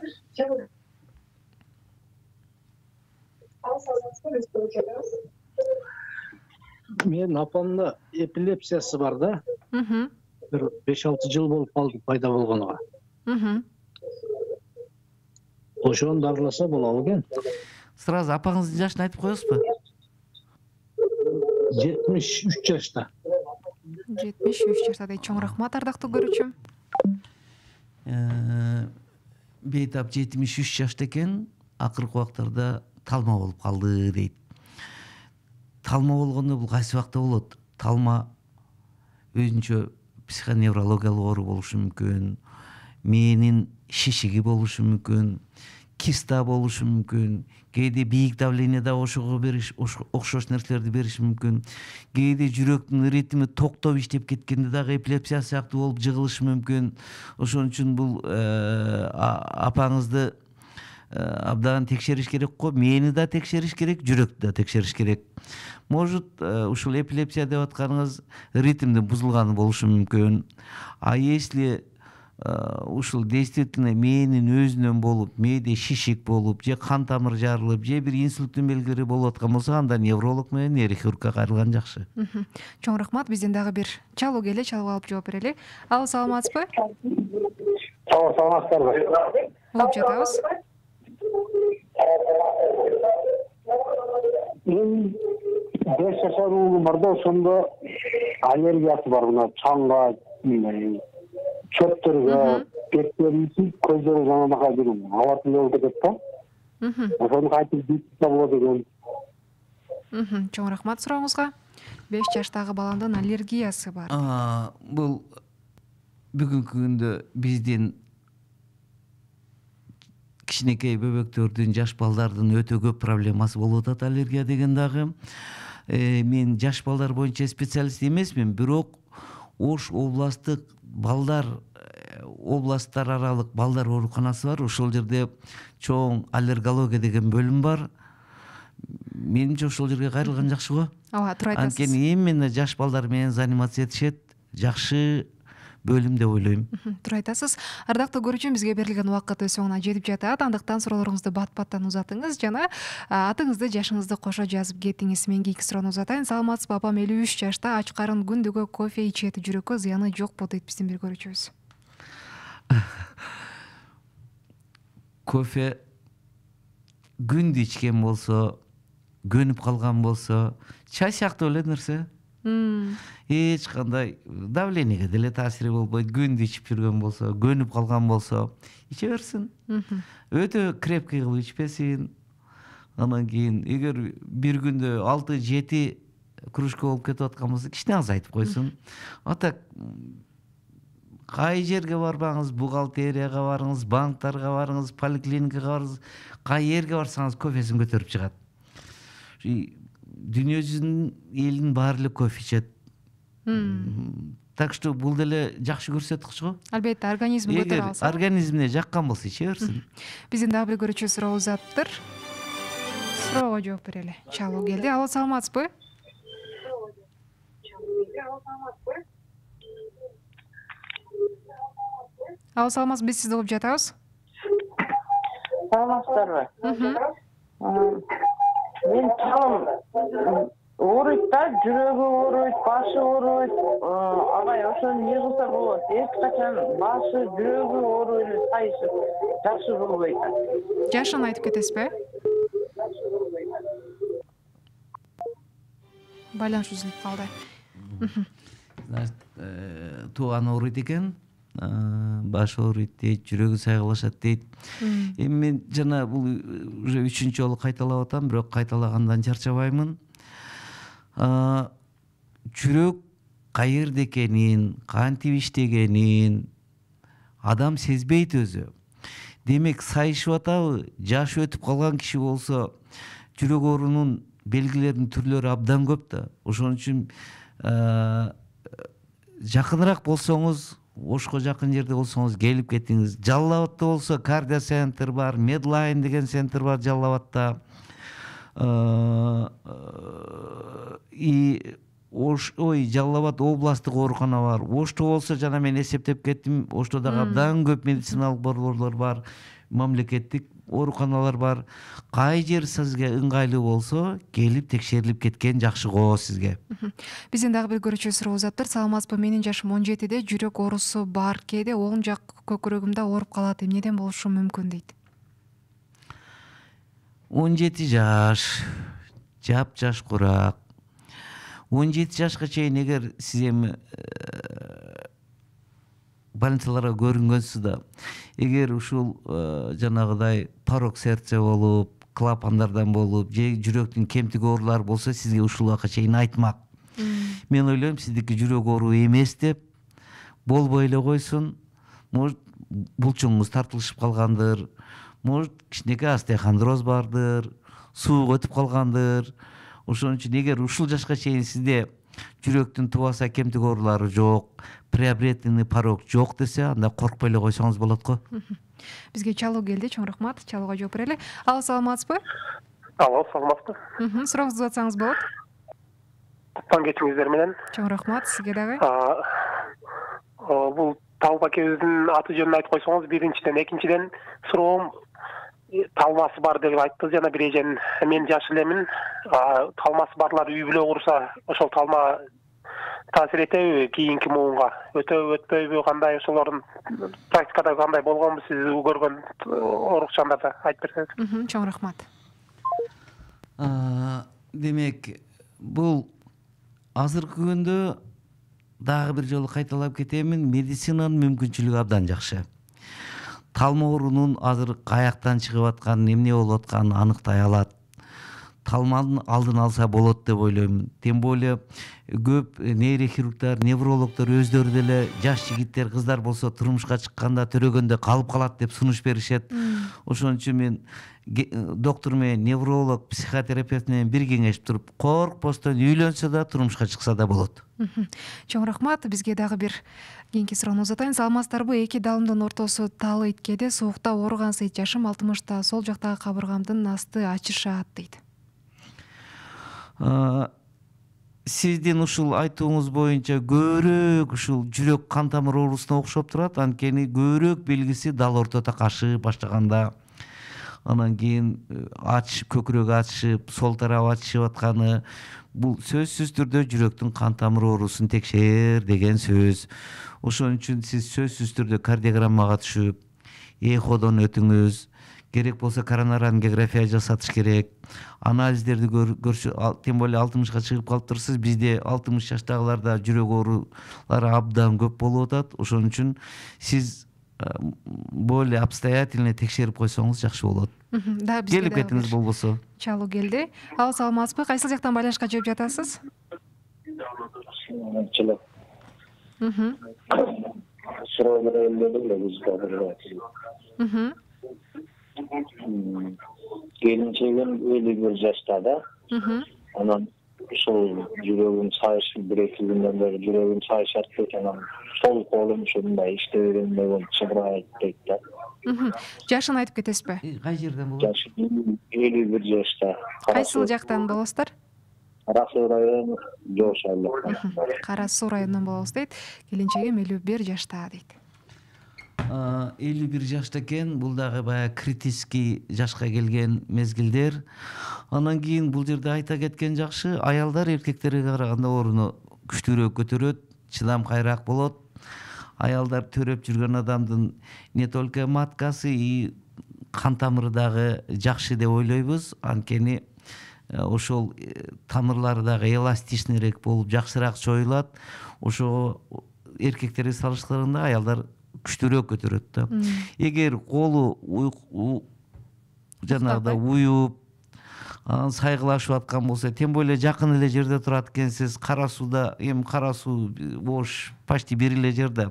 Мен апамда эпилепсиясы бар да. Бир беш алты жыл болуп калды пайда болгонуга. Ошону дарыласа болобу экен? Сразу апаңыздын жашын айтып коесузбу? жетимиш үч жашта. жетимиш үч жашта дейт. Чоң рахмат, ардактуу көрүүчүм. Бейтап жетимиш үч жашта экен, акыркы убактарда талма болуп калды дейт. Талма болгондо бул кайсы убакта болот? Талма өзүнчө психоневрологиялык оору болушу мүмкүн, мээнин шишиги болушу мүмкүн, киста болушу мүмкүн, кээде бийик давлениеда ошого бериш, окшош нерселерди бериши мүмкүн. Кээде жүрөктүн ритми токтоп иштеп кеткенде дагы эпилепсия сыяктуу болуп жыгылышы мүмкүн. Ошон үчүн бул апаңызды абдан текшериш керек го. Мээни да текшериш керек, жүрөктү да текшериш керек. Может, ушул эпилепсия деп атканыңыз ритмдин бузулганы болушу мүмкүн. А если ушул действительно мээнин өзүнөн болуп, мээде шишик болуп, же кан тамыр жарылып, же бир инсульттун белгилери болуп аткан болсо, анда невролог менен нейрохирургка кайрылган жакшы. Чоң рахмат. Бизден дагы бир чалуу келе, чалууга алып жооп берели. Алло, саламатсызбы? Алло, саламатсыздарбы? Угуп жатабыз. Мен беш жашар уулум бар да, ошондо аллергиясы бар мына чаңга, чөптөргө, беттерибиз, көздөрү жанагы бир алатын болуп кетет да. Ошону кайтып бүтүп болот экен. Чоң рахмат сурооңузга. беш жаштагы баламдын аллергиясы бар. Бул бүгүнкү күндө биздин кичинекей бөбөктөрдүн, жаш балдардын өтө көп проблемасы болуп атат аллергия деген дагы. Мен жаш балдар боюнча специалист эмесмин, бирок Ош областтык балдар областтар аралык балдар ооруканасы бар. Ошол жерде чоң аллергология деген бөлүм бар. Менимче ошол жерге кайрылган жакшы го. Ооба, туура айтасыз. Анткени именно жаш балдар менен заниматься этишет. Жакшы бөлүм деп ойлойм. Туура айтасыз. Ардактуу көрүүчүм, бизге берилген убакыт өз соңуна жетип жатат. Андыктан суроолоруңузду бат-баттан узатыңыз жана атыңызды, жашыңызды кошо жазып кетиңиз. Мен кийинки суроону узатайын. Саламатсызбы? Апам элүү үч жашта, ач карын, күндүгө кофе ичет, жүрөккө зыяны жокпу дейт биздин бир көрүүчүбүз. Кофе күндү ичкен болсо, көнүп калган болсо, чай сыяктуу эле нерсе. Эч кандай давлениеге деле таасири болбойт. Күндү ичип жүргөн болсо, көнүп калган болсо, иче берсин. Өтө крепкий кылып ичпесин. Анан кийин эгер бир күндө алты жети кружка болуп кетип аткан болсо кичине азайтып койсун. А так кай жерге барбаңыз, бухгалтерияга барыңыз, банктарга барыңыз, поликлиникага барыңыз, кай жерге барсаңыз кофесин көтөрүп чыгат. Дүйнө жүзүнүн элинин баары эле кофе ичет. Так что бул деле жакшы көрсөткүч го. Албетте, организм көтөрө алса. Организмине жаккан болсо иче берсин. Биздин дагы бир көрүүчү суроо узаттыр. Суроого жооп берели. Чалуу келди. Алло, саламатсызбы? Алло, саламатсызбы? Биз сизди угуп жатабыз. Саламатсыздарбы? Мен чалым ооруйт да, жүрөгү ооруйт, башы ооруйт. Абай ошону эмне кылса болот? Эч качан башы, жүрөгү ооруй эле сайышып, жакшы болбойт. Жашын айтып кетесизби? Байланыш үзүлүп калды. Тууган ооруйт экен, баш ооруйт дейт, жүрөгү сайгылашат дейт. Эми мен жана бул уже үчүнчү жолу кайталап атам, бирок кайталагандан чарчабаймын. Жүрөк каерде экенин, кантип иштегенин адам сезбейт өзү. Демек, сайышып атабы, жашы өтүп калган киши болсо, жүрөк оорунун белгилеринин түрлөрү абдан көп да. Ошон үчүн жакыныраак болсоңуз, Ошко жакын жерде болсоңуз келип кетиңиз. Жалал Абадта болсо кардио центр бар, Медлайн деген центр бар Жалал Абадта. И Ош, ой, Жалал Абад областтык оорукана бар. Ошто болсо жана мен эсептеп кеттим, Ошто дагы абдан көп медициналык борборлор бар, мамлекеттик ооруканалар бар. Кай жер сизге ыңгайлуу болсо, келип текшерилип кеткен жакшы го сизге. Биздин дагы бир көрүүчү суроо узаттыр. Саламатсызбы? Менин жашым он жетиде, жүрөк оорусу бар. Кээде оң жак көкүрөгүмдө ооруп калат. Эмнеден болушу мүмкүн дейт. он жети жаш, жап-жаш курак. он жети жашка чейин эгер сиз эми больницаларга көрүнгөнсүз да, эгер ушул жанагыдай порок сердце болуп, клапандардан болуп, же жүрөктүн кемтиг оорулары болсо, сизге ушул убакка чейин айтмак. Мен ойлойм, сиздики жүрөк оору эмес деп, болбой эле койсун. Может, булчуңуңуз тартылышып калгандыр, может, кичинекей остеохондроз бардыр, суук өтүп калгандыр. Ошон үчүн эгер ушул жашка чейин сизде жүрөктүн тубаса кемтиг оорулары жок, приобретенный порок жок десе, анда коркпой эле койсоңуз болот го. Бизге чалуу келди, чоң рахмат. Чалууга жооп берели. Алло, саламатсызбы? Алло, саламатсызбы? Сурооңузду атсаңыз болот. Таң кечиңиздер менен. Чоң рахмат, сизге дагы. Бул Талма акебиздин аты жөнүн айтып койсоңуз, биринчиден, экинчиден суроом талмасы бар деп айтты жана бир эжен. Мен жаш элемин. Талмасы барлар үй бүлө курса, ошол талма таасир этеби кийинки муунга? Өтөбү, өтпөйбү, кандай ошолордун практикада кандай болгонбу сиз көргөн оорукчандарда айтып берсеңиз. Чоң рахмат. Демек, бул азыркы күндө дагы бир жолу кайталап кетемин, медицинанын мүмкүнчүлүгү абдан жакшы. Талма оорунун азыр каяктан чыгып атканын, эмне болуп атканын аныктай алат. Талманын алдын алса болот деп ойлойм. Тем более көп нейрохирургдар, неврологдор өздөрү деле жаш жигиттер, кыздар болсо турмушка чыкканда төрөгөндө калып калат деп сунуш беришет. Ошон үчүн мен доктор менен, невролог, психотерапевт менен бир кеңешип туруп, коркпостон үйлөнсө да, турмушка чыкса да болот. Чоң рахмат. Бизге дагы бир кийинки суроону узатайын. Саламатсыздарбы? Эки далымдын ортосу талыйт, кээде соокта ооруган сайт жашым алтымышта, сол жактагы кабыргамдын асты ачышат дейт. Сиздин ушул айтууңуз боюнча көбүрөөк ушул жүрөк кан тамыр оорусуна окшоп турат. Анткени көбүрөөк белгиси дал ортодо кашып баштаганда, анан кийин ачышып, көкүрөгү ачышып, сол тарабы ачышып атканы, бул сөзсүз түрдө жүрөктүн кан тамыр оорусун текшер деген сөз. Ошон үчүн сиз сөзсүз түрдө кардиограммага түшүп, эходон өтүңүз. Керек болсо коронарангиография жасатыш керек. Анализдерди көрсө, тем более алтымышка чыгып калыптырсыз. Бизде алтымыш жаштагыларда жүрөк оорулары абдан көп болуп атат. Ошон үчүн сиз более обстоятельно текшерип койсоңуз жакшы болот. Келип кетиңиз болбосо. Чалуу келди. Алло, саламатсызбы? Кайсыл жактан байланышка жооп жатасыз? ачылып суроо эле биз келинчегим элүү бир жашта да. Анан ушул жүрөгүм сайышы бир эки күндөн бери жүрөгүм сайышат дейт, анан сол колум ушундай иштей бергенде болуп чыгырайт дейт да. Жашын айтып кетесизби? Кай жерден болот? Жашы элүү бир жашта. Кайсыл жактан болосуздар? Кара Суу району, Жош айлык. Кара Суу районунан болобуз дейт. Келинчегим элүү бир жашта дейт. элүү бир жашта экен, бул дагы баягы критический жашка келген мезгилдер. Анан кийин бул жерде айта кеткен жакшы, аялдар эркектерге караганда орунду күчтүүрөөк көтөрөт, чыдамкайраак болот. Аялдар төрөп жүргөн адамдын не только маткасы, и кан тамыры дагы жакшы деп ойлойбуз. Анткени ошол тамырлары дагы эластичныйрээк болуп, жакшыраак чоюлат. Ошо эркектерге салыштырганда аялдар күчтүүрөөк көтөрөт да. Эгер колу жанагыдай уюп, сайгылашып аткан болсо, тем более жакын эле жерде турат экенсиз, Кара Сууда, эми Кара Суу Ош почти бир эле жерде.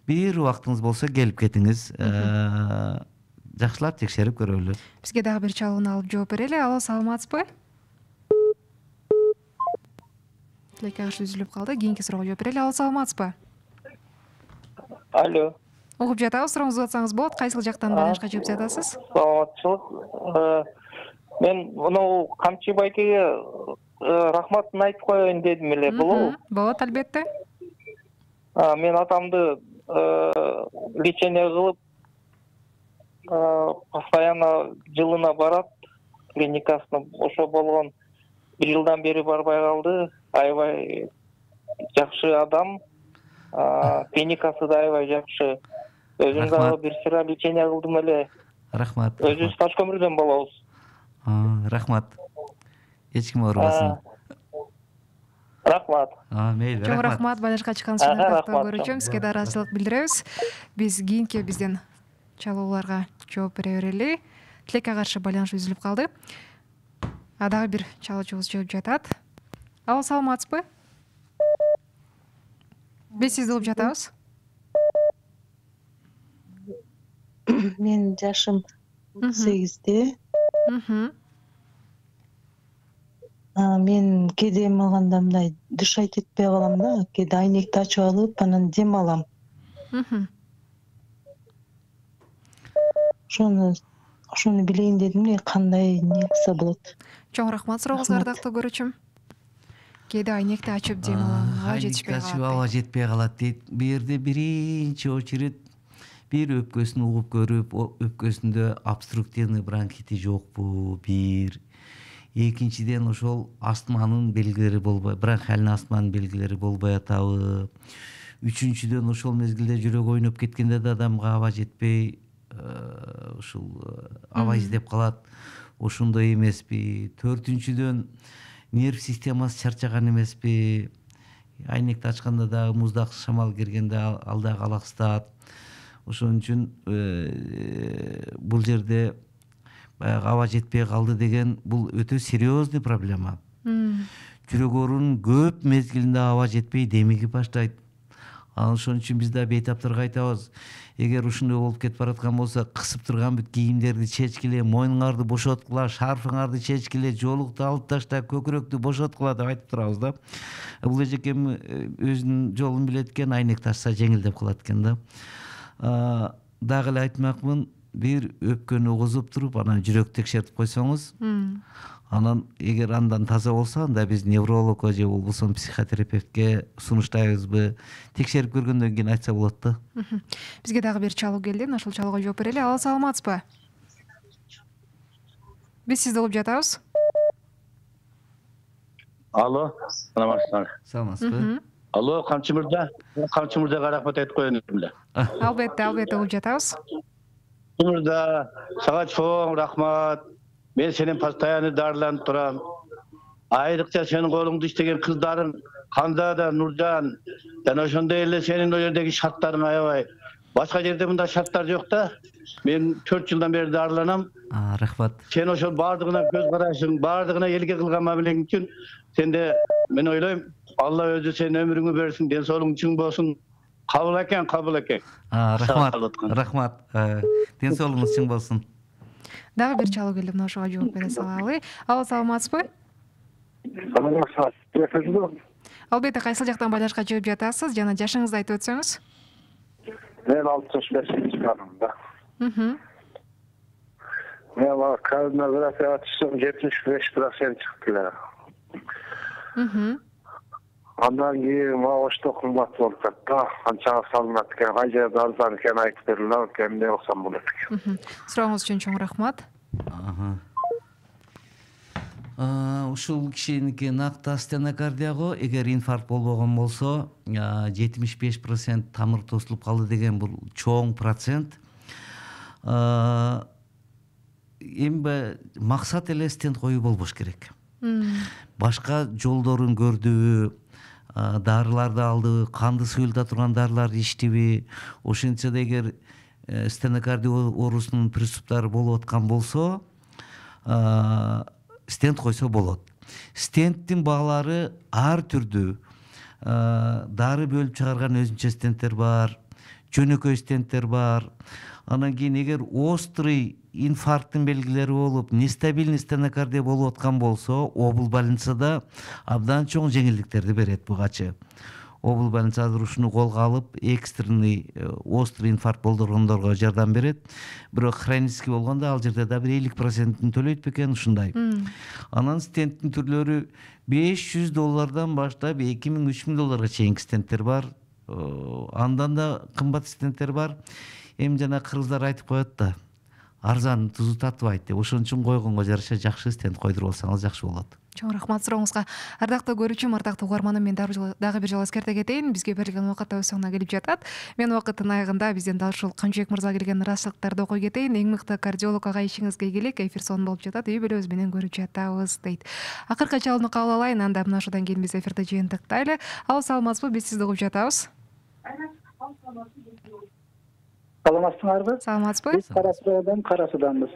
Бир убактыңыз болсо келип кетиңиз. Жакшылап текшерип көрөлү. Бизге дагы бир чалууну алып жооп берели. Алло, саламатсызбы? Телекаш үзүлүп калды. Кийинки суроого жооп берели. Алло, саламатсызбы? Алло. Угуп жатабыз, сурооңузду атсаңыз болот. Кайсыл жактан байланышка чыгып жатасыз? Саламатчылык. Мен муну Камчы байкеге рахматын айтып коеюн дедим эле, болобу? Болот, албетте. Мен атамды лечение кылып, постоянно жылына барат, клиникасына. Ошо болгон бир жылдан бери барбай калды. Аябай жакшы адам. Клиникасы да аябай жакшы. Өзүм дагы бир сыра лечение кылдым эле. Рахмат. Өзүбүз таш көмүрдөн болобуз. Рахмат. Эч ким оорубасын. Рахмат. Мейли, рахмат. Чоң рахмат, байланышка чыкканыңыз үчүн тактоо көрүүчүм. Сизге да ыраазычылык билдиребиз. Биз кийинки бизден чалууларга жооп бере берели. Тилекке каршы байланыш үзүлүп калды. А дагы бир чалуучубуз жооп жатат. Алло, саламатсызбы? Биз сизди угуп жатабыз. Мен жашым сегизде. Мен кээде эме алганда мындай дышать этпей калам да, кээде айнекти ачып алып, анан дем алам. Ошону ошону билейин дедим эле, кандай эмне кылса болот. Чоң рахмат сурооңузга, ардактуу көрүүчүм. Кээде айнекти ачып дем алам, аба жетишпей калат. Айнекти ачып аба жетпей калат дейт. Бул жерде биринчи очередь бир өпкөсүн угуп көрүп, өпкөсүндө обструктивный бронхити жокпу, бир. Экинчиден ошол астманын белгилери болбой, бронхиальный астманын белгилери болбой атабы. Үчүнчүдөн ошол мезгилде жүрөк ойноп кеткенде да адамга аба жетпей, ушул аба издеп калат. Ошондой эмеспи? Төртүнчүдөн нерв системасы чарчаган эмеспи? Айнекти ачканда дагы муздак шамал киргенде ал дагы алаксытат. Ошон үчүн бул жерде баягы аба жетпей калды деген бул өтө серьезный проблема. Жүрөк оорунун көп мезгилинде аба жетпей демиги баштайт. Ошон үчүн биз да бейтаптарга айтабыз. Эгер ушундай болуп кетип бараткан болсо, кысып турган бүт кийимдерди чечкиле, мойнуңарды бошоткула, шарфыңарды чечкиле, жоолукту алып ташта, көкүрөктү бошоткула деп айтып турабыз да. Бул эжекем өзүнүн жолун билет экен, айнекти ачса жеңилдеп калат экен да. Дагы эле айтмакмын, бир өпкөнү угузуп туруп, анан жүрөк текшертип койсоңуз, анан эгер андан таза болсо, анда биз неврологко же болбосо психотерапевтке сунуштайбызбы, текшерип көргөндөн кийин айтса болот да. Бизге дагы бир чалуу келди, ошол чалууга жооп берели. Алло, саламатсызбы? Биз сизди угуп жатабыз. Алло, саламатсызбы? Саламатсызбы? Алло, Камчы мырза, Камчы мырзага рахмат айтып коеюн эле. Албетте, албетте угуп жатабыз. Мырза, сага чоң рахмат. Мен сенен постоянно дарыланып турам. Айрыкча сенин колуңду иштеген кыздарың, Ханзада, Нуржан, жана ошондой эле сенин ол жердеги шарттарың аябай. Башка жерде мындай шарттар жок да. Мен төрт жылдан бери дарыланам. Рахмат. Сен ошол баардыгына көз карашың, баардыгына элге кылган мамилең үчүн сенде мен ойлойм Алла өзү сенин өмүрүңү берсин, ден соолугуң чың болсун. Кабыл экен, кабыл экен. Рахмат, рахмат. Ден соолугуңуз чың болсун. Дагы бир чалуу келди, мына ошого жооп бере салалы. Алла, саламатсызбы? Албетте, кайсыл жактан байлашка жооп жатасыз жана жашыңызды айтып өтсөңүз? Мен алтымыш бешинчи жанымда. Мхм. Мен коронавирусга түшсөм жетимиш беш процент чыкты эле. Мхм. Андан кийин ошто кымбат болуп кетти. Канчага салынат экен, кай жерде арзан экенин айтып берилер, эмне оксом болот экен. Сурооңуз үчүн чоң рахмат. Ушул кишиники накта стенокардия го. Эгер инфаркт болбогон болсо, жетимиш беш процент тамыр тосулуп калды деген бул чоң процент. Эми максат эле стент коюу болбош керек. Башка жолдорун көрдүбү, дарыларды алдыбы, канды суюлта турган дарыларды ичтиби, ошентсе да эгер стенокардия оорусунун приступтары болуп аткан болсо, стент койсо болот. Стенттин баалары ар түрдүү. Дары бөлүп чыгарган өзүнчө стенттер бар, жөнөкөй стенттер бар. Анан кийин эгер острый инфаркттын белгилери болуп, нестабильный стенокардия болуп аткан болсо, обл больницада абдан чоң жеңилдиктерди берет бугачы. Обл больница азыр ушуну колго алып, экстренный острый инфаркт болдургондорго жардам берет. Бирок хронический болгондо ал жерде да бир элүү процентин төлөйт бекен, ушундай. Анан стенттин түрлөрү беш жүз доллардан баштап эки миң үч миң долларга чейинки стенттер бар. Андан да кымбат стенттер бар. Эми жана кыргыздар айтып коет да, арзан тузу татыбайт деп. Ошон үчүн койгонго жараша жакшы стент койдуруп алсаңыз жакшы болот. Чоң рахмат сурооңузга. Ардактуу көрүүчүм, ардактуу угарманым, мен дагы бир жолу эскерте кетейин. Бизге берилген убакыт өз соңуна келип жатат. Мен убакыттын аягында бизден дал ушул Камчыбек мырза келген ыраазычылыктарды окуй кетейин. Эң мыкты кардиолог ага ишиңизге ийгилик. Эфир сонун болуп жатат. Үй бүлөбүз менен көрүп жатабыз дейт. Акыркы чалууну кабыл алайын, анда мына ошондон кийин биз эфирди жыйынтыктайлы. Ал саламатсызбы? Биз сизди угуп жатабыз. Саламатсыңарбы? Саламатсызбы? Биз Кара Суудан, Кара Суданбыз.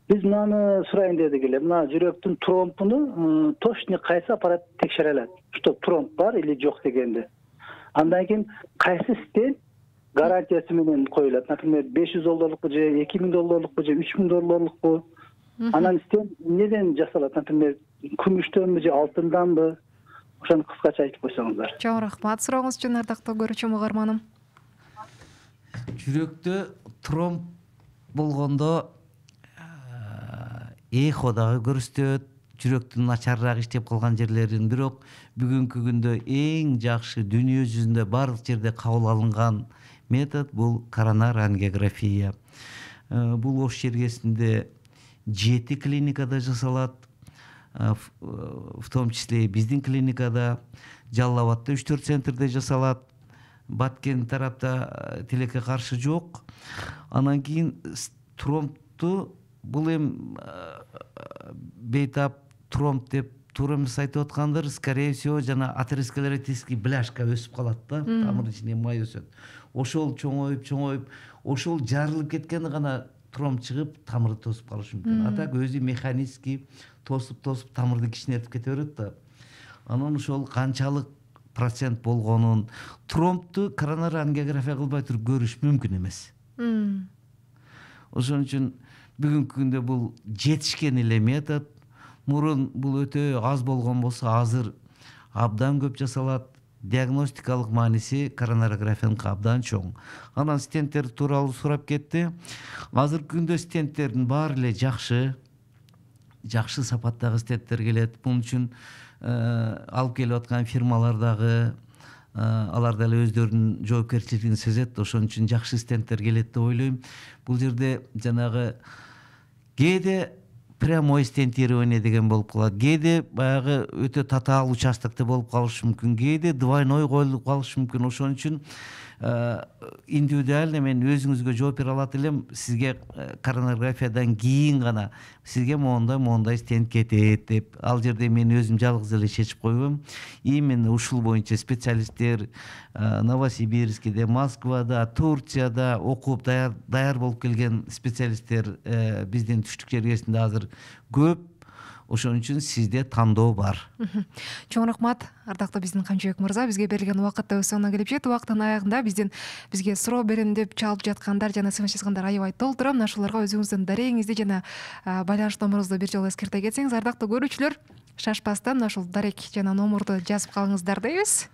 Биз мынаны сурайын дедик эле. Мына жүрөктүн тромбуну точно кайсы аппарат текшере алат? Что тромб бар или жок дегенди. Андан кийин кайсы стент гарантиясы менен коюлат? Например, беш жүз долларлыкпы же эки миң долларлыкпы же үч миң долларлыкпы? Анан стент неден жасалат? Например, күмүштөнбү же алтынданбы? Ошону кыскача айтып койсоңуздар. Чоң рахмат сурооңуз үчүн, ардактуу көрүүчүм, угарманым. Жүрөктө тромб болгондо эхо дагы көрсөтөт, жүрөктүн начарыраак иштеп калган жерлерин. Бирок бүгүнкү күндө эң жакшы дүйнө жүзүндө бардык жерде кабыл алынган метод бул коронар ангиография. Бул Ош жергесинде жети клиникада жасалат. В том числе биздин клиникада, Жалал Абадта үч төрт центрде жасалат. Баткен тарапта тилекке каршы жок. Анан кийин тромбту бул эми бейтап тромб деп туура эмес айтып аткандыр, скорее всего жана атеросклеротический бляшка өсүп калат да, тамырдын ичинде май өсөт. Ошол чоңоюп, чоңоюп, ошол жарылып кеткенде гана тромб чыгып, тамырды тосуп калышы мүмкүн. А так өзү механически тосуп-тосуп тамырды кичинертип кете берет да. Анан ошол канчалык процент болгонун, тромбту коронар ангиография кылбай туруп көрүш мүмкүн эмес. Ошон үчүн бүгүнкү күндө бул жетишкен эле метод. Мурун бул өтө аз болгон болсо, азыр абдан көп жасалат. Диагностикалык мааниси коронарографияныкы абдан чоң. Анан стенттер тууралуу сурап кетти. Азыркы күндө стенттердин баары эле жакшы, жакшы сапаттагы стенттер келет. Бунун үчүн алып келип аткан фирмалар дагы, алар деле өздөрүнүн жоопкерчилигин сезет. Ошон үчүн жакшы стенттер келет деп ойлойм. Бул жерде жанагы кээде прямой стентирование деген болуп калат. Кээде баягы өтө татаал участокто болуп калышы мүмкүн. Кээде двойной коюлуп калышы мүмкүн. Ошон үчүн индивидуально мен өзүңүзгө жооп бере алат элем. Сизге коронарографиядан кийин гана сизге моундай моундай стент кетет деп. Ал жерде мен өзүм жалгыз эле чечип койбойм. Именно ушул боюнча специалисттер Новосибирскиде, Москвада, Турцияда окуп даяр даяр болуп келген специалисттер биздин түштүк жергесинде азыр көп. ошон үчүн сизде тандоо бар. Чоң рахмат ардактуу биздин Камчыбек мырза, бизге берилген убакыт да өз соңуна келип жетти. Убакыттын аягында бизден бизге суроо берем деп чалып жаткандар жана смс жазгандар аябай толтура. Мына ошолорго өзүңүздүн дарегиңизди жана байланыш номурубузду бир жолу эскерте кетсеңиз, ардактуу көрүүчүлөр, шашпастан мына ушул дарек жана номурду жазып калыңыздар дейбиз.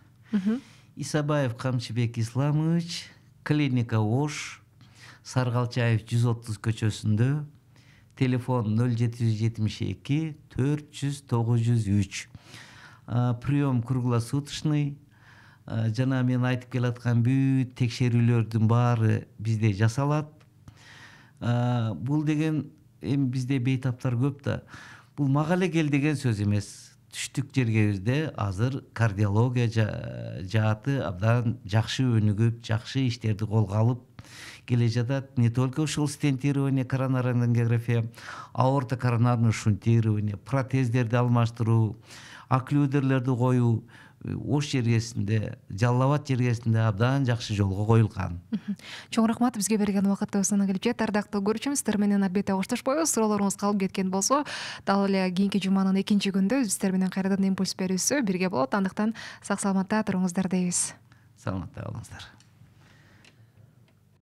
Исабаев Камчыбек Исламович, клиника Ош, Саргалчаев жүз отуз көчөсүндө, телефон ноль жети жүз жетимиш эки төрт жүз тогуз жүз үч. Прием круглосуточный, жана мен айтып келаткан бүт текшерүүлөрдүн баары бизде жасалат. Бул деген эми бизде бейтаптар көп да. Бул мага эле кел деген сөз эмес. Түштүк жергебизде азыр кардиология жааты абдан жакшы өнүгүп, жакшы иштерди колго алып келе жатат. Не только ушул стентирование, коронарная ангиография, аорта коронарное шунтирование, протездерди алмаштыруу, окклюдерлерди коюу Ош жергесинде, Жалал Абад жергесинде абдан жакшы жолго коюлган. Чоң рахмат, бизге берилген убакытта өз соңуна келип жетти. Ардактуу көрүүчүбүз, сиздер менен албетте коштошпойбуз. Суроолоруңуз калып кеткен болсо, дал эле кийинки жуманын экинчи күндө сиздер менен кайрадан импульс берүүсү бирге болот. Андыктан сак саламатта туруңуздар дейбиз. Саламатта болуңуздар.